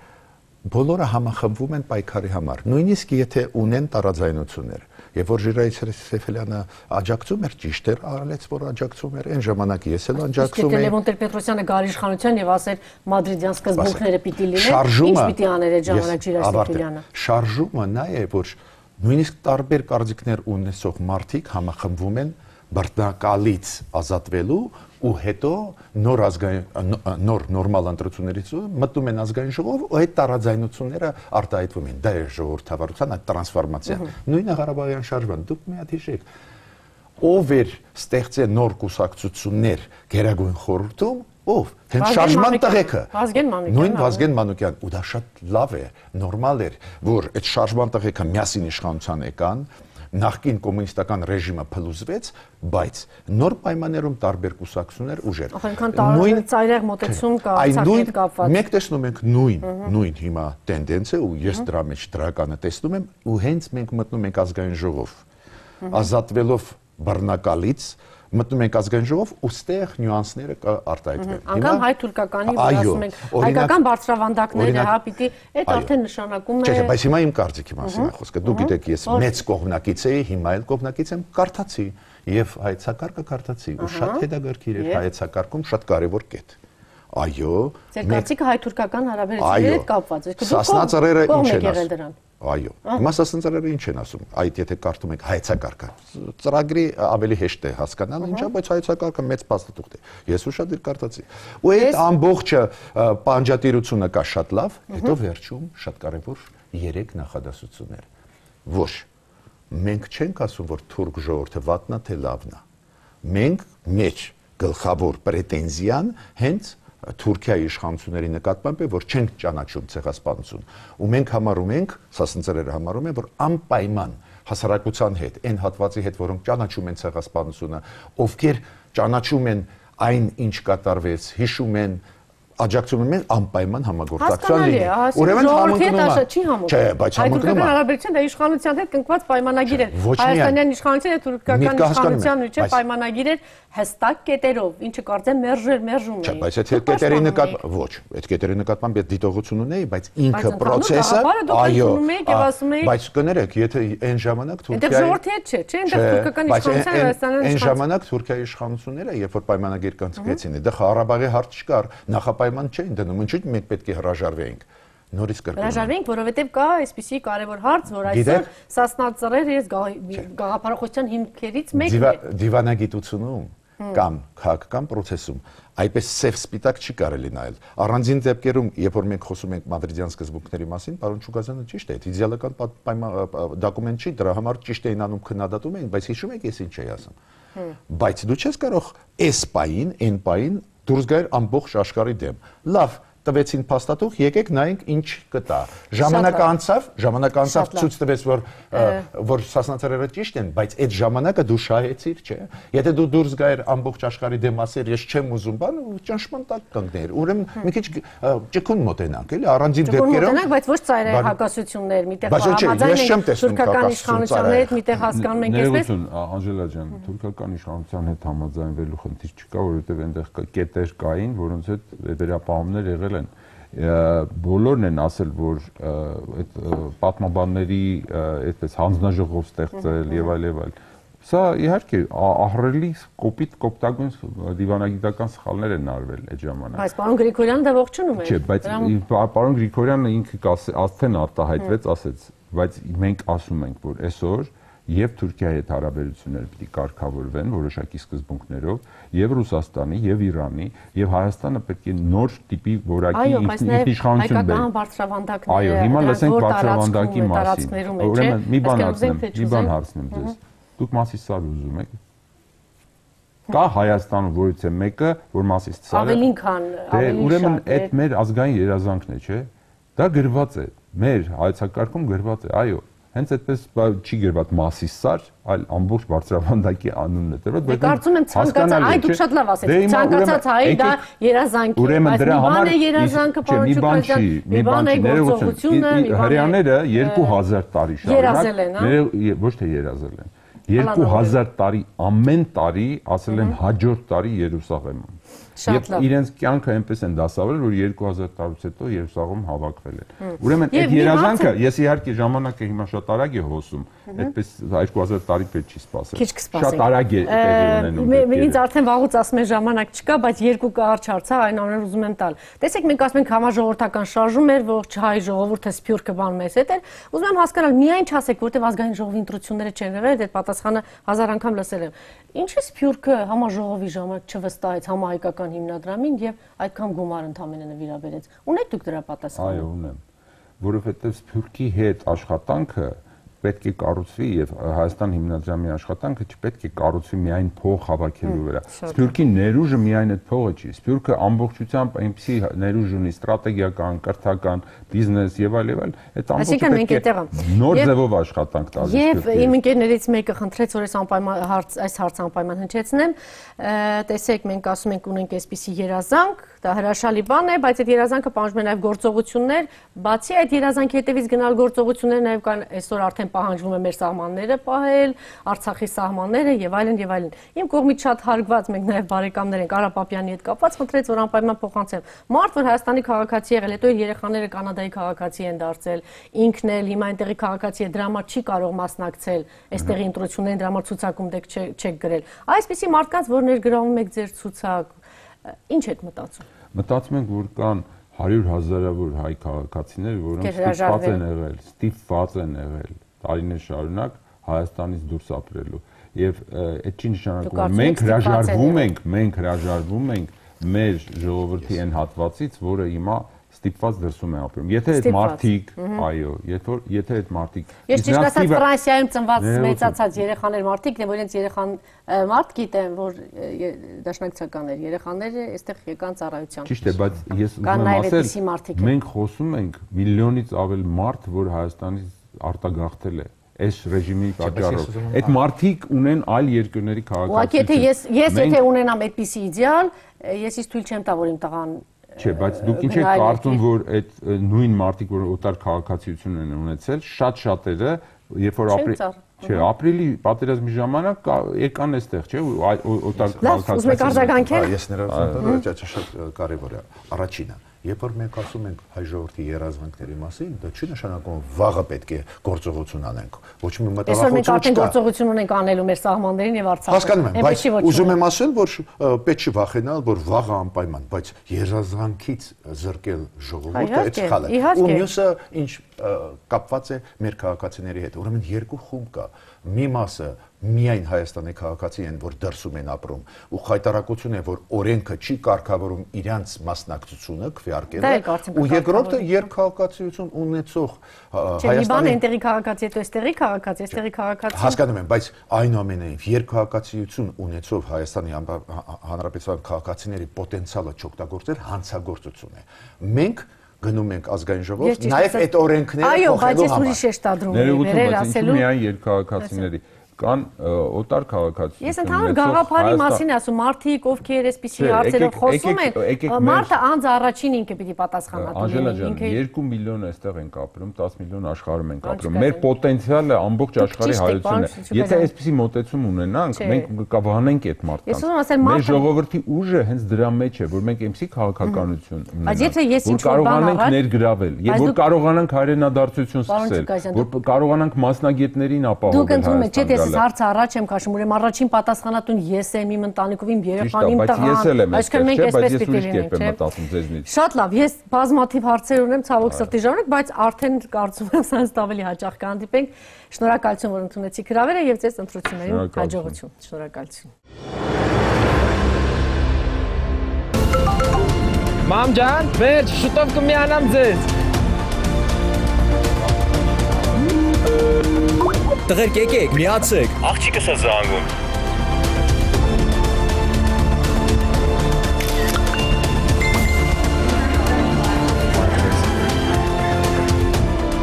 բոլորը համախմբվում են պայքարի համար, նույնիսկ եթե ունեն տարաձայնություններ։ Եվ որ Ժիրայր Սեֆիլյանը աջակցում էր, ճիշտ էր, արարեց, որ աջակցում էր, այն ժամանակ ես էլ աջակցում էի։ Լևոն Տեր-Պետրոսյանը գար իշխանության եւ ասեր մադրիդյան սկզբունքները պիտի լինեն, ինչ պիտի աներ այդ ժամանակ Ժիրայր Սեֆիլյանը։ Շարժումը նա է, որ նույնիսկ տարբեր կարծիքներ ունեցող մարդիկ համախմբվում են բռնակալից ազատվելու ու հետո նոր ազգային նոր նորմալ ընտրություններից մտնում են ազգային ժողով ու այդ տարաձայնությունները արտահայտվում են։ Դա է ժողովրդավարության այդ տրանսֆորմացիան։ Նույնը Ղարաբաղյան շարժման, դուք մի հատ հիշեք, ով էր ստեղծել նոր կուսակցություններ Գերագույն խորհրդում, ով հենց շարժման տղեկը նույն Վազգեն Մանուկյան, ու դա շատ լավ է, նորմալ էր, որ այդ շարժման տղեկը միասին իշխանության եկան, նախկին կոմունիստական ռեժիմը փլուզվեց, բայց նոր պայմաններում տարբեր կուսակցություններ ուժեր։ Այնքան տարբեր ծայրահեղ մոտեցում կա Արցախի հետ կապված։ Մենք տեսնում ենք նույն նույն հիմա տենդենսը ու ես դրա մեջ դրականը տեսնում եմ ու հենց մենք մտնում ենք ազգային ժողով, ազատվելով բռնակալից մտնում ենք ազգային ժողով ու ստեղ նյուանսները կարտահայտվեն։ Անգամ հայ-թուրքականի, որ ասում ենք, հայկական բարձրավանդակները, հա, պիտի այդ արդեն նշանակում է։ Չէ, բայց հիմա իմ կարծիքի մասին է խոսքը։ Դուք գիտեք, ես մեծ կողմնակից էի, հիմա էլ կողմնակից եմ, կարդացի եւ հայեցակարգը կարդացի ու շատ հետաքրքիր էր հայեցակարգում շատ կարեւոր կետ։ Այո, ձեր կարծիքը հայ-թուրքական հարաբերությունների հետ կապված է։ Սասնա ծռերը ինչ են ասում։ Այո։ Հիմա Սասնա ծռերը ինչ են ասում։ Այդ եթե կարդում եք հայեցակարգը, ծրագրի ավելի հեշտ է հասկանալ ինչա, բայց հայեցակարգը մեծ փաստաթուղթ է։ Ես ուշադիր կարդացի։ Ու այդ ամբողջը պանջատիրությունը կա շատ լավ, հետո վերջում շատ կարևոր երեք նախադասություններ։ Ոչ, մենք չենք ասում, որ թուրք ժողովուրդը վատնա թե լավնա։ Մենք մեջ գլխավոր պրետենզիան հենց Թուրքիայի իշխանությունների նկատմամբ է, որ չենք ճանաչում ցեղասպանություն։ Ու մենք համարում ենք, սասնցրերը համարում են, որ անպայման հասարակության հետ, այն հատվածի հետ, որոնք ճանաչում են ցեղասպանությունը, ովքեր ճանաչում են այն, ինչ կատարվեց, հիշում են, աջակցում են անպայման համագործակցության լինի։ Ուրեմն համընկնում է։ Չի համընկնում։ Չէ, բայց համընկնում է։ Հայ-թուրքական հարաբերությունները դա իշխանության հետ կնքված պայմանագիր է։ Հայաստանյան իշխանության եւ թուրքական իշխանության միջեւ պայմանագիր է հստակ կետերով, ինչը կարծեմ մերժել մերժում է։ Չէ, բայց այդ կետերի նկատմամբ ոչ, այդ կետերի նկատմամբ այդ դիտողություն ունեի, բայց ինքը process-ը, այո, բայց կներեք, եթե այն ժամանակ Թուրքիայի Այնտեղ ժողովրդի հետ չէ, չէ, այնտեղ թուրքական իշխանության Հայաստանյան այն ժամանակ Թուրքիայի իշխանությունները, երբ որ պայմանագիր կանցկացրեցին, դա Ղարաբաղի հարց չկար, նախապայման չէին դնում, ինչու՞ մենք պետք է հրաժարվեինք։ Նորից կրկնում։ Հրաժարվենք, որովհետև կա այսպիսի կարևոր հարց, որ այսօր Սասնա ծռերը գաղափարախոսության հիմքերից մեկն է։ Դիվանագիտությունում կամ քաղաքական process-ում այպես սև սպիտակ չի կարելի նայել։ Առանձին դեպքերում, երբ որ մենք խոսում ենք մադրիդյան սկզբունքների մասին, պարոն Շուգազյանը ճիշտ է, իդեալական դոկումենտ չի, դրա համար ճիշտ էին անում քննադատում էին, բայց հիշում եք, ես ինչ էի ասում։ Բայց դու չես կարող այս պային, այն պային դուրս գալ ամբողջ աշխարհի դեմ։ Լավ, տվեցին փաստաթուղթ, եկեք նայենք ինչ կտա։ Ժամանակը անցավ, ժամանակը անցավ ցույց տվեց, որ որ Սասնացրերը ճիշտ են, բայց այդ ժամանակը դու շահեցիր, չէ։ Եթե դու դուրս գայր ամբողջ աշխարհի դեմ ասեր, ես չեմ ուզում բան, ճնշման տակ կանգներ։ Ուրեմն մի քիչ ճկուն մոտենանք, էլի, առանձին դեպքերում։ Մոտենանք, բայց ոչ ծայրահեղ հակասություններ, միտեղ համաձայն ենք թուրքական իշխանության հետ, միտեղ հասկանում ենք այսպես։ Անժելա ջան, թուրքական իշխանության հետ համաձայնվելու խնդիր չկա, որովհետև այնտեղ կետեր կային, որոնց հետ վերապահումներ եղել են, բոլորն են ասել, որ այդ պատմաբանների այդպես հանձնաժողով ստեղծել եւ այլ եւ այլ։ Սա իհարկե ահռելի կոպիտ կոպտագույն դիվանագիտական սխալներ են արվել այդ ժամանակ։ Բայց պարոն Գրիգորյանը դա ողջունում է։ Չէ, բայց պարոն Գրիգորյանը ինքը արդեն արտահայտվեց, ասեց, բայց մենք ասում ենք, որ այսօր եւ Թուրքիայի հետ հարաբերությունները պիտի կարգավորվեն որոշակի սկզբունքներով, եւ Ռուսաստանի, եւ Իրանի, եւ Հայաստանը պետք է նոր տիպի որակի ինքնիշխանություն բերի։ Հայկական բարձրավանդակները։ Այո, հիմա լսենք բարձրավանդակի մասին։ Ուրեմն մի բան ասեմ, մի բան հարցնեմ ձեզ։ Դուք Մասիսար ուզում եք։ Կա Հայաստանում որից է մեկը, որ Մասիսարը ավելին քան ավելին շատ։ Ուրեմն այդ մեր ազգային երազանքն է, չէ՞։ Դա գրված է։ Մեր հայեցակարգում գրված է, այո։ Հենց այդպես չի գրված Մասիսար, այլ ամբողջ բարձրավանդակի անունն է դրված, բայց կարծում եմ ցանկացած, այ դուք շատ լավ ասեցիք, ցանկացած հայ դա երազանք է, բայց մի բան է երազանքը, պարոն Շուկազյան, մի բան է գործողությունը, մի բան է հрьяաները երկու հազար տարի շարունակ, ոչ թե երազել են, երկու հազար տարի ամեն տարի ասել են հաջորդ տարի Երուսաղեմում։ Եվ իրենց կյանքը այնպես են դասավորել, որ երկու հազար տարուց հետո Երուսաղեմ հավաքվել են։ Ուրեմն այդ երազանքը, ես իհարկե ժամանակը հիմա շատ արագ է հոսում, այդպես երկու հազար տարի պետք չի սպասել։ Շատ արագ է տեղի ունենում։ Ինձ արդեն վաղուց ասում են ժամանակ չկա, բայց երկու կարճ հարց է, այն ամենը ուզում եմ տալ։ Տեսեք, մենք ասում ենք համաժողովրդական շարժում էր, ողջ հայ ժողովուրդը սփյուռքը բան մեզ հետ էր։ Ուզում եմ հասկանալ, միայն չասեք, որտեղ ազգային ժողովի ընտրությունները չեն եղել, այդ պատասխանը հազար անգամ լսել եմ։ Ինչի՞ սփյուռքը համաժողովի ժամանակ չվստահեց համահայկական հիմնադրամին եւ այդքան գումար ընդամենը նվիրաբերեց։ Ունեք դուք դրա պատասխանը։ Այո, ունեմ։ Որովհետեւ սփյուռքի հետ աշխատանքը պետք է կառուցվի եւ Հայաստան հիմնադրամի աշխատանքը չպետք է կառուցվի միայն փող հավաքելու վրա։ Սփյուռքի ներուժը միայն այդ փողը չի։ Սփյուռքը ամբողջությամբ այնպեսի ներուժ ունի ստրատեգիական, կրթական, բիզնես եւ այլ եւ այլ։ Այդ ամբողջը պետք է նոր ձևով աշխատանք տալ։ Եվ իմ ընկերներից մեկը խնդրեց, որ այս անպայման հարց, այս հարցը անպայման հնչեցնեմ։ Տեսեք, մենք ասում ենք ունենք այսպիսի երազանք, դա հրաշալի բան է, բայց այդ երազանքը պահանջում է նաեւ գործողություններ, բացի այդ երազանքի հետևից գնալ գործողություններ նաեւ կան այսօր արդեն պահանջվում է մեր սահմանները պահել, Արցախի սահմանները եւ այլն եւ այլն։ Իմ կողմից շատ հարգված, մենք նաեւ բարեկամներ ենք Արա Պապյանի հետ կապված, խնդրեց, որ անպայման փոխանցեմ։ Մարդ, որ Հայաստանի քաղաքացի եղել, հետո իր երեխաները Կանադայի քաղաքացի են դարձել, ինքն էլ հիմա այնտեղի քաղաքացի է, դրա համար չի կարող մասնակցել այստեղի ընտրություններին, դրա համար ցուցակում դեք չեք գրել։ Այսպիսի մարդկանց, որ ներգրավում եք ձեր ցուցակ, ինչ եք մտածում։ Մտածում ենք, որ կան հարյուր հազարավոր հայ քաղաքացիներ, որոնք ստիպված են եղել, ստիպված են եղել տարիներ շարունակ Հայաստանից դուրս ապրելու եւ այդ չի նշանակում մենք հրաժարվում ենք մենք հրաժարվում ենք մեր ժողովրդի այն հատվածից, որը հիմա ստիպված դրսում է ապրում։ Եթե այդ մարդիկ, այո, եթե այդ մարդիկ Ես ճիշտ ասած Ֆրանսիայում ծնված մեծացած երեխաներ մարդիկն են, որ իրենց երեխան մարդ գիտեն, որ դաշնակցականներ երեխաները այստեղ եկան ծառայության։ Ճիշտ է, բայց ես ուզում եմ ասել, մենք խոսում ենք միլիոնից ավել մարդ, որ Հայաստանից արտագաղթել է այս ռեժիմի պատճառով։ Այդ մարդիկ ունեն այլ երկրների քաղաքացիություն։ Ուղղակի եթե ես ես եթե ունենամ այդպիսի իդեալ, ես իսկ թույլ չեմ տա, որ իմ տղան Չէ, բայց դուք ինչ եք կարծում, որ այդ նույն մարդիկ, որ օտար քաղաքացիություն են ունեցել, շատ-շատերը, երբ որ ապրի Չէ, ապրիլի պատերազմի ժամանակ եկան այստեղ, չէ, օտար քաղաքացիություն։ Ես ներողություն, շատ կարևոր է։ Առաջինը, երբ որ մենք ասում ենք հայ ժողովրդի երազանքների մասին, դա չի նշանակում վաղը պետք է գործողություն անենք։ Ոչ մի մտահոգություն չկա։ Այսօր մենք արդեն գործողություն ունենք անելու մեր սահմաններին եւ Արցախում։ Հասկանում եմ, բայց ուզում եմ ասել, որ պետք չի վախենալ, որ վաղը անպայման, բայց երազանքից զրկել ժողովուրդը այդ սխալ է։ Ու մյուսը ինչ կապված է մեր քաղաքացիների հետ։ Ուրեմն երկու խումբ կա։ Մի մասը միայն Հայաստանի քաղաքացի են, որ դրսում են ապրում, ու խայտարակություն է, որ օրենքը չի կարգավորում իրանց մասնակցությունը քվեարկելը, ու երկրորդը երկքաղաքացիություն ունեցող Հայաստանի այնտեղի քաղաքացի, հետո այստեղի քաղաքացի, այստեղի քաղաքացի։ Հասկանում եմ, բայց այնուամենայնիվ երկքաղաքացիություն ունեցող Հայաստանի Հանրապետության քաղաքացիների պոտենցիալը չօգտագործել հանցագործություն է։ Մենք գնում ենք ազգային ժողով, նաև այդ օրենքները փոխելու համար։ Այո, բայց ես ուրիշ եմ շտադրում։ Ներողություն, բայց ինչու՞ միայն երկքաղաքացիների կան օտար քաղաքացիություն։ Ես ընդհանուր գաղափարի մասին ասում, մարդիկ, ովքեր այսպիսի հարցերով խոսում են, մարդը անձ առաջին ինքը պիտի պատասխանատու լինի, ինքը երկու միլիոն այստեղ ենք ապրում, տասը միլիոն աշխարհում ենք ապրում։ Մեր պոտենցիալը ամբողջ աշխարհի հայությունն է։ Եթե այսպիսի մոտեցում ունենանք, մենք կվանենք այդ մարդկանց։ Մեր ժողովրդի ուժը հենց դրա մեջ է, որ մենք այնպիսի քաղաքականություն ունենանք, որ կարողանանք ներգրավել, եւ որ կարողանանք հայրենադարձություն սկսել, որ կարողանանք մասնագետներին ապահովել։ Ես հարցը առաջ եմ քաշում, ուրեմն առաջին պատասխանատուն ես եմ, իմ ընտանիքով, իմ երեխան, իմ տղան, այսինքն մենք այսպես պիտի լինենք, չէ՞։ Շատ լավ, ես բազմաթիվ հարցեր ունեմ, ցավոք սրտի ժամանակ, բայց արդեն կարծում եմ սրանց ավելի հաճախ կհանդիպենք։ Շնորհակալություն, որ ընդունեցիք հրավերը եւ ձեզ ընտրություններին հաջողություն։ Շնորհակալություն։ Մամ ջան, վերջ, շուտով կմիանամ ձեզ։ Տղերք եկեք, միացեք։ Աղջիկս է զանգում։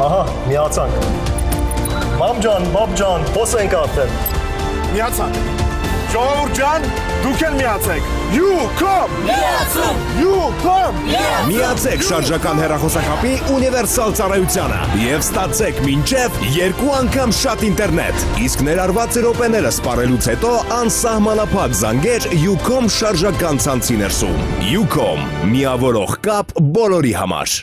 Ահա, միացանք։ Մամ ջան, բաբ ջան, հոս ենք արդեն։ Միացանք։ Ժողովուրդ ջան, դուք էլ միացեք։ You come! Միացում! You come! Միացեք շարժական հեռախոսակապի ունիվերսալ ծառայությանը եւ ստացեք մինչեւ երկու անգամ շատ ինտերնետ։ Իսկ ներառված րոպեները սպառելուց հետո անսահմանափակ զանգեր Ucom շարժական ցանցի ներսում։ Ucom՝ միավորող կապ բոլորի համար։